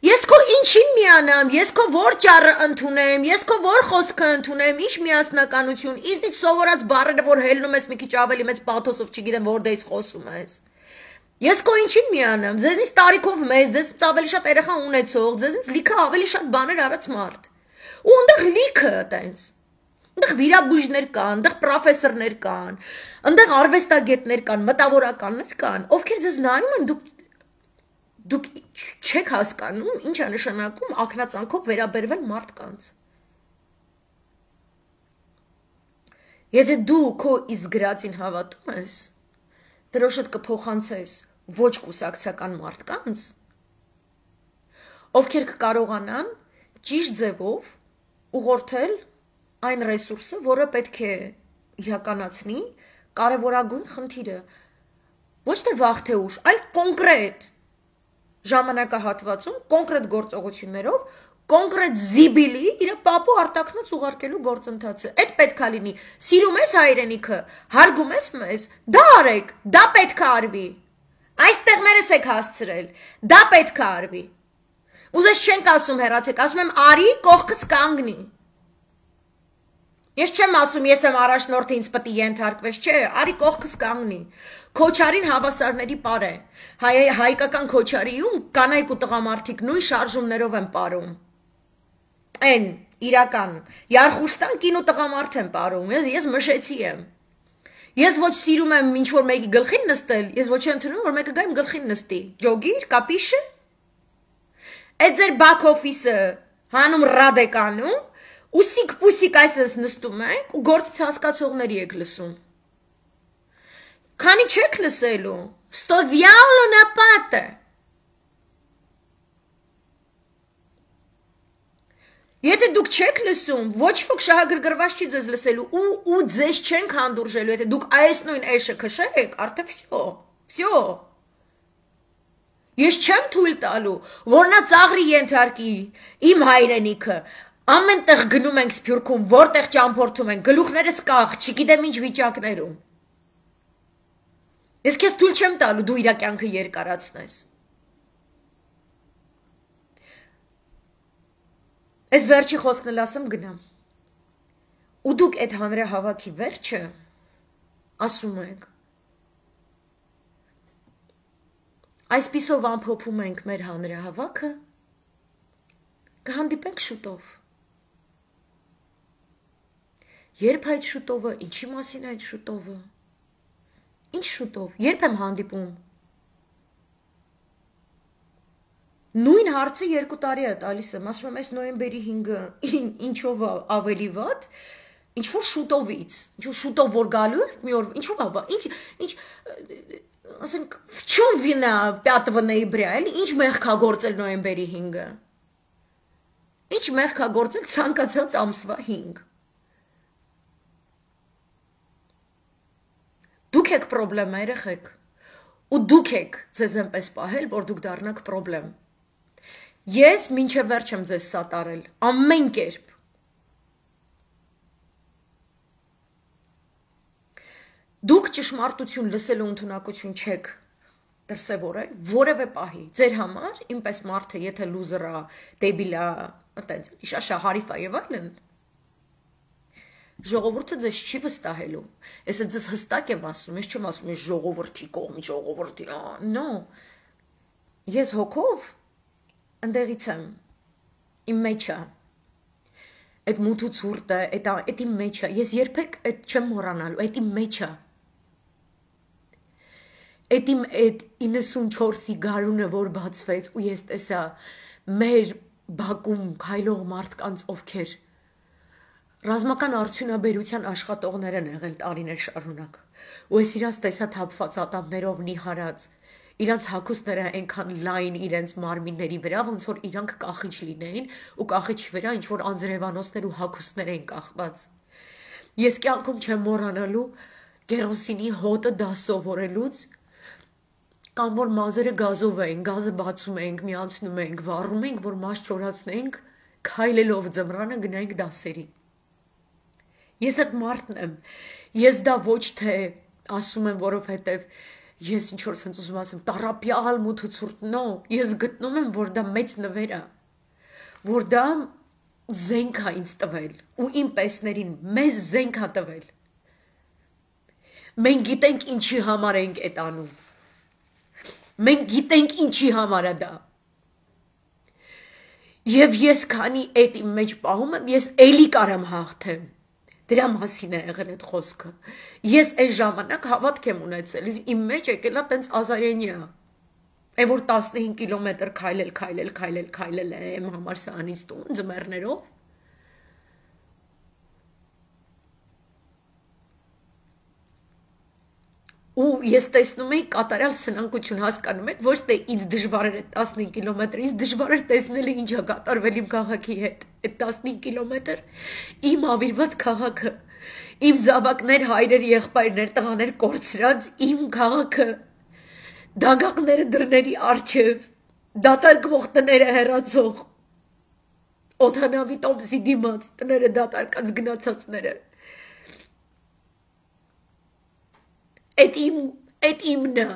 ես քո ինչին միանամ, ես քո որ ճառը ընդունեմ, ես քո որ խոսքը ընդունեմ, ինչ միասնականություն, ինձնից սովորած բառերը, որ հելնում ես մի քիչ ավելի մեծ պաթոսով, չգիտեմ որտեղից խոսում ես։ Ես քո ինչին միանամ, ձեզնից տարիքով մեծ, ձեզնից ավելի շատ երեխա ունեցող, ձեզնից լիքը ավելի շատ բաներ արած մարդ։ Ու այնտեղ լիքը տենց։ Այնտեղ վիրաբույժներ կան, այնտեղ պրոֆեսորներ կան, այնտեղ արվեստագետներ կան, մտավորականներ կան, ովքեր ձեզ նայում են Դուք չեք հասկանում, ինչ է նշանակում ակնածանքով վերաբերվել մարդկանց։ Եթե դու քո իսկ գրածին հավատում ես, դրոշդ կփոխանցես ոչ կուսակցական մարդկանց, ովքեր կկարողանան ճիշտ ձևով ուղղորդել այն ռեսուրսը, որը պետք է իրականացնի կարևորագույն խնդիրը, ոչ թե վաղ թե ուշ, այլ կոնկրետ ժամանակահատվածում կոնկրետ գործողություններով կոնկրետ զիբիլի իր պապու արտաքնոց ուղարկելու գործընթացը։ Այդ պետք է լինի։ Սիրում ես հայրենիքը, հարգում ես մեզ, դա արեք, դա պետք է արվի։ Այստեղներս եք հասցրել, դա պետք է արվի։ Ուզես չենք ասում հեռացեք, ասում եմ արի կողքս կանգնի։ Ես չեմ ասում ես եմ առաջնորդը ինձ պետք է ենթարկվես, չէ, արի կողքս կանգնի։ Քոչարին հավասարների պար է։ Հայկական քոչարիում կանայք ու տղամարդիկ նույն շարժումներով են պարում։ Այն իրական Յարխուշտան կին ու տղամարդ են պարում, ես մշեցի եմ։ Ես ոչ սիրում եմ ինչ որ մեկի գլխին նստել, ես ոչ ընդունում որ մեկը գա իմ գլխին նստի։ Ջոգիր, կապիշը։ Այդ ձեր back office-ը հանում ռադեկանում Ուսիկ-պուսիկ այսպես նստում եք ու գործից հասկացողների եք լսում։ Քանի չեք լսելու, sto diavolo na pata։ Եթե դուք չեք լսում, ոչ ոք շահագրգռված չի ձեզ լսելու ու ձեզ չենք հանդուրժելու, եթե դուք այս նույն էշը քշեք, արդեն վсё։ Ես չեմ թույլ տալու, որ նա ծաղրի ենթարկի իմ հայրենիքը։ Ամեն տեղ գնում ենք Սփյուռքում, որտեղ ճամփորդում ենք, գլուխներս կախ, չգիտեմ ինչ վիճակներում։ Ես քեզ թույլ չեմ տալու դու իր կյանքը երկարացնես։ Այս վերջի խոսքն էլ ասեմ գնամ։ Ու դուք այդ հանրահավաքի վերջը ասում եք։ Այսպիսով ամփոփում ենք մեր հանրահավաքը, կհանդիպենք շուտով։ Երբ այդ շուտովը, ինչի մասին այդ շուտովը։ Ինչ շուտով, երբ եմ հանդիպում։ Նույն հարցը 2 տարի է տալիս եմ, ասում եմ այս նոյեմբերի 5-ը ինչով ավելի վատ, ինչ որ շուտովից, ինչ որ շուտով որ գալու է, մի օր ինչով ինչ ասենք в чем вина 5 ноября, էլի ինչ մեղք է գործել նոյեմբերի 5-ը։ Ինչ մեղք է գործել ցանկացած ամսվա 5։ Դուք եք պրոբլեմը երեխեք, ու դուք եք ձեզ այնպես պահել, որ դուք դառնաք պրոբլեմ։ Ես մինչև վերջ եմ ձեզ սատարել, ամեն կերպ։ Դուք ճշմարտություն լսելու ընդունակություն չեք դրսևորել որևէ պահի։ Ձեր համար, ինպես մարդը, եթե լուզեր է, դեբիլ է, այտենց, իշաշա հարիֆ է եւ այլն, ժողովուրդը ձեզ չի վստահելու։ Ես ձեզ հստակ եմ ասում, ես չեմ ասում ես ժողովրդի կողմ, ժողովրդի, no։ Ես հոգով ընդեղից եմ, իմ մեջ է, այդ մութ ու ցուրտը, այդ իմ մեջ է, ես երբեք այդ չեմ մոռանալու, այդ իմ մեջ է, այդ իմ այդ 94-ի գարունը, որ բացվեց, ու ես տեսա մեր բակում քայլող մարդկանց, ովքեր ռազմական արդյունաբերության աշխատողներ են եղել տարիներ շարունակ, ու ես իրաց տեսա թափված ատամներով նիհարած, իրանց հագուստները այնքան լայն իրենց մարմինների վրա, ոնց որ իրանք կախիչ լինեին, ու կախիչի վրա ինչ որ անձրևանոցներ ու հագուստներ էին կախված։ Ես կյանքում չեմ մոռանալու կերոսինի հոտը դա սովորելուց, կամ որ մազերը գազով էին, գազը բացում էինք, միացնում էինք, վառում էինք, որ մաշ չորացնեինք, քայլելով ձմռանը գնայինք դասերի։ Ես այդ մարդն եմ, ես դա ոչ թե ասում եմ, որովհետև ես ինչ որ sense ուզում ասեմ, տարապյալ մութ ու ցուրտ, no, ես գտնում եմ, որ դա մեծ նվեր է, որ դա զենք է ինձ տվել, ու իմ պեսներին մեզ զենք է տվել։ Մենք գիտենք ինչի համար ենք այդ անում։ Մենք գիտենք ինչի համար է դա։ Եվ ես քանի այդ իմ մեջ պահում եմ, ես էլի կարամ հաղթեմ։ Դրա մասին է եղել այդ խոսքը։ Ես այս ժամանակ հավատք եմ ունեցել, իմ մեջ եկել է տենց ազարենիա։ Այն որ 15 կիլոմետր քայլել եմ համալսարանից տուն ձմեռներով։ Ու ես տեսնում էի կատարյալ սնանկություն, հասկանում եք, ոչ թե ինձ դժվար էր այդ 15 կիլոմետր, ինձ դժվար էր տեսնել ինչ է կատարվել իմ քաղաքի հետ։ Այդ 15 կիլոմետր իմ ավիրված քաղաքը, իմ զավակներ, հայրեր, եղբայրներ, տղաներ կորցրած իմ քաղաքը, դագաղները դռների առջև, դատարկվող տները հեռացող, օդանավի տոմսի դիմաց, տները դատարկած գնացածները։ Այդ իմն է,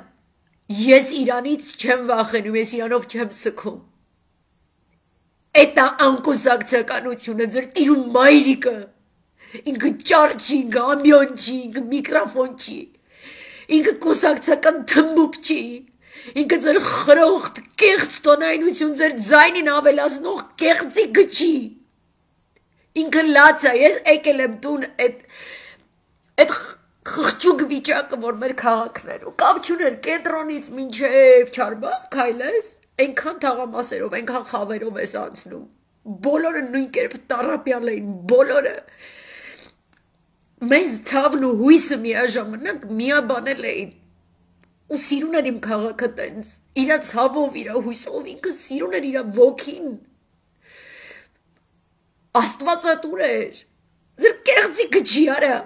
ես իրանից չեմ վախենում, ես իրանով չեմ սգում։ Այդ է անկուսակցականությունը, ձեր տիրում մայրիկը, ինքը ճար չի, ինքը ամյոն չի, ինքը միկրոֆոն չի, ինքը կուսակցական թմբուկ չի, ինքը ձեր խրոխտ, կեղծ տոնայնություն, ձեր ձայնին ավելացնող կեղծի գչի, ինքը լաց է, ես եկել եմ տուն այդ խղճուկ վիճակը, որ մեր քաղաքներ ու կապ չուներ կենտրոնից մինչև Չարբախ քայլես, այնքան թաղամասերով, այնքան խավերով ես անցնում, բոլորը նույն կերպ տառապյալ էին, բոլորը մեզ ցավն ու հույսը միաժամանակ միաբանել էին ու սիրուն էր իմ քաղաքը տենց, իրա ցավով, իրա հույսով, ինքը սիրուն էր իրա ոգին Աստվածատուր էր։ Ձեր կեղծիքը չի արա։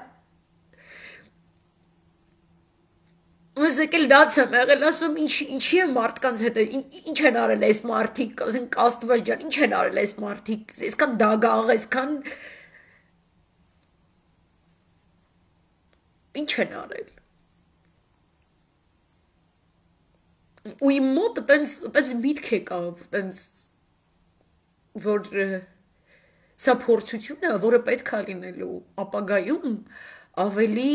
Ես եկել դաց եմ եղել, ասում եմ ինչի է մարդկանց հետ, ինչ են արել այս մարդիկ, ասենք Աստված ջան, ինչ են արել այս մարդիկ, այսքան դագաղ, այսքան ինչ են արել։ Ու իմ մոտ տենց միտք եկավ, տենց որ սա փորձություն է, որը պետք է լինելու ապագայում ավելի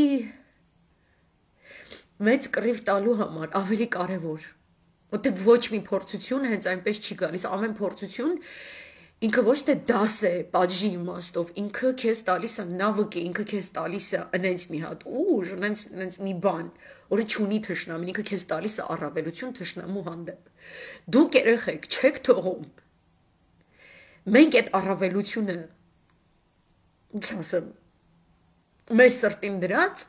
մեծ կռիվ տալու համար, ավելի կարևոր, որտեղ ոչ մի փորձություն հենց այնպես չի գալիս, ամեն փորձություն ինքը ոչ թե դաս է պատժի իմաստով, ինքը քեզ տալիս է նավակ, ինքը քեզ տալիս է այնց մի հատ ուժ, այնց մի բան, որը չունի թշնամին, ինքը քեզ տալիս է առավելություն թշնամու հանդեպ։ Դուք երեխեք չեք թողում։ Մենք այդ առավելությունը, ինչ ասեմ, մեր սրտին դրած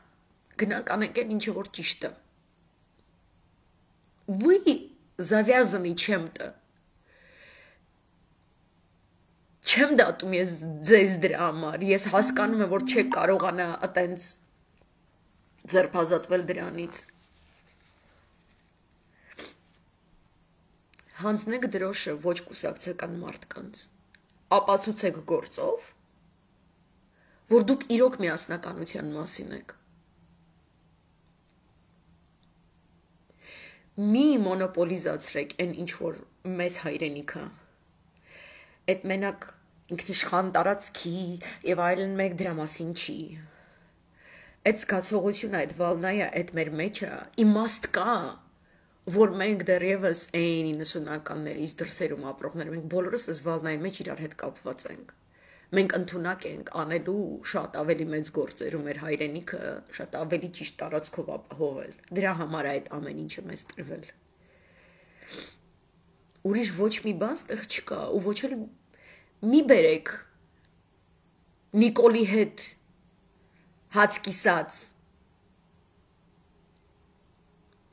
գնանք անենք այն ինչը որ ճիշտ է։ Вы завязаны чем-то։ Չեմ դատում ես ձեզ դրա համար, ես հասկանում եմ, որ չեք կարողանա այտենց ձերբազատվել դրանից։ Հանձնեք դրոշը ոչ կուսակցական մարդկանց, ապացուցեք գործով, որ դուք իրոք միասնականության մասին եք։ Մի մոնոպոլիզացրեք այն ինչ որ մեզ հայրենիքը։ Այդ մենակ ինքնիշխան տարածքի եւ այլն մեկ դրա մասին չի։ Այդ զգացողությունը, այդ վալնայը, այդ մեր մեջը իմաստ կա, որ մենք դեռևս այն 90-ականներից դրսերում ապրողներ, մենք բոլորս այս վալնայի մեջ իրար հետ կապված ենք։ Մենք ընդունակ ենք անելու շատ ավելի մեծ գործեր ու մեր հայրենիքը շատ ավելի ճիշտ տարածքով ապահովել։ Դրա համար այդ ամեն ինչը մեզ տրվել։ Ուրիշ ոչ մի բան ստեղ չկա ու ոչ էլ մի բերեք Նիկոլի հետ հաց կիսած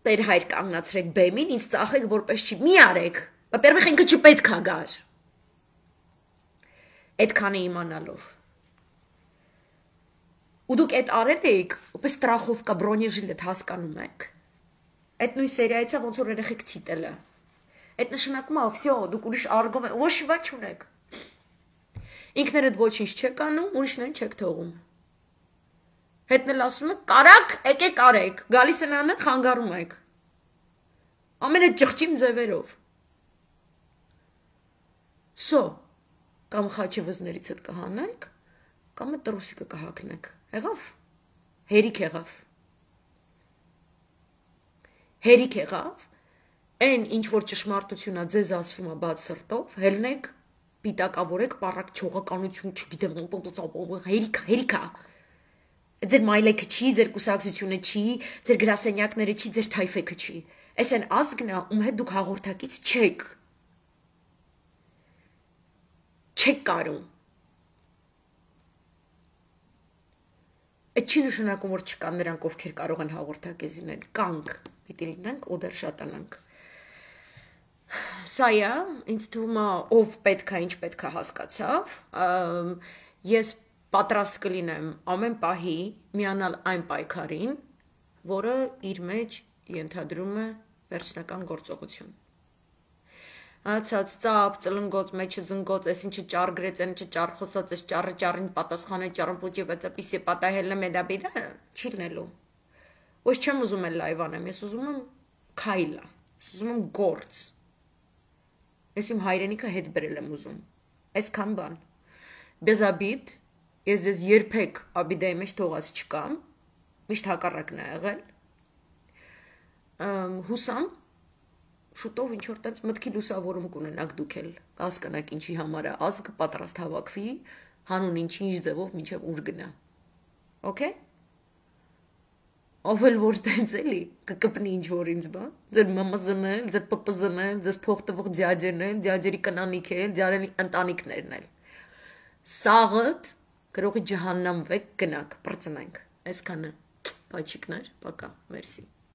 Տեր հայր կանգնացրեք բեմին, ինձ ծախեք որպես չի, մի արեք, во-первых, ինքը չպետք է գար։ Այդքանը իմանալով։ Ու դուք այդ արել եք, որպես ստրախովկա բրոնեժիլետ հասկանում եք։ Այդ նույն սերիայից է ոնց որ երեխեք ցիտելը։ Այդ նշանակում է, всё, դուք ուրիշ արգոմենտ, ոչ մի բան չունեք։ Ինքներդ ոչինչ չեք անում, ուրիշներին չեք թողում։ Հետն էլ ասում եք, կարակ, եկեք արեք, գալիս են անը, խանգարում եք։ Ամեն այդ ճղճիմ ձևերով։ Սո կամ խաչի վզներից հետ կհանեք, կամ այդ տրուսիկը կհակնեք։ Եղավ։ Հերիք եղավ։ Հերիք եղավ, այն ինչ որ ճշմարտությունա ձեզ ասվում է բաց սրտով, հելնեք, պիտակավորեք, պառակ չողականություն, չգիտեմ, հերիքա։ Ձեր մայլեքը չի, ձեր կուսակցությունը չի, ձեր գրասենյակները չի, ձեր թայֆեքը չի։ Այս այն ազգն է, ում հետ դուք հաղորդակից չեք։ Չեք կարում։ Այդ չի նշանակում, որ չկան նրանք, ովքեր կարող են հաղորդակից լինել, կանք, պիտի լինենք ու դեռ շատանանք։ Սա է, ինձ թվում է, ով պետք է, ինչ պետք է հասկացավ, ես պատրաստ կլինեմ ամեն պահի միանալ այն պայքարին, որը իր մեջ ենթադրում է վերջնական գործողություն։ Ացած ծապ, ծլնգոց, մեջը զնգոց, այս ինչը ճար գրեց, այն ինչը ճար խոսած, այս ճարը ճարին պատասխան է, ճարն պուճի վետապիսի պատահելը մեդաբիրա, չի լինելու։ Ոչ չեմ ուզում էլ լայվ անեմ, ես ուզում եմ քայլա, ես ուզում եմ գործ։ Ես իմ հայրենիքը հետ բերել եմ ուզում, այսքան բան։ Բեզաբիդ, ես ձեզ երբեք աբիդայի մեջ թողած չկամ, միշտ հակառակն է եղել։ Հուսամ շուտով ինչ որ տենց մտքի լուսավորում կունենաք դուք էլ, հասկանաք ինչի համար է ազգ պատրաստ հավաքվի, հանուն ինչ ձևով մինչև ուր գնա։ Okay? Ով էլ որ տենց էլի, կկպնի ինչ որ ինձ բա, ձեր մամազն էլ, ձեր պպզն էլ, ձեզ փող տվող ձյաձերն էլ, ձյաձերի կնանիք էլ, ձյարելի ընտանիքներն էլ։ Սաղըտ գրողի ջահաննամ վեք գնաք, պրծնենք, այսքանը, պաչիկներ, պակա, մերսի։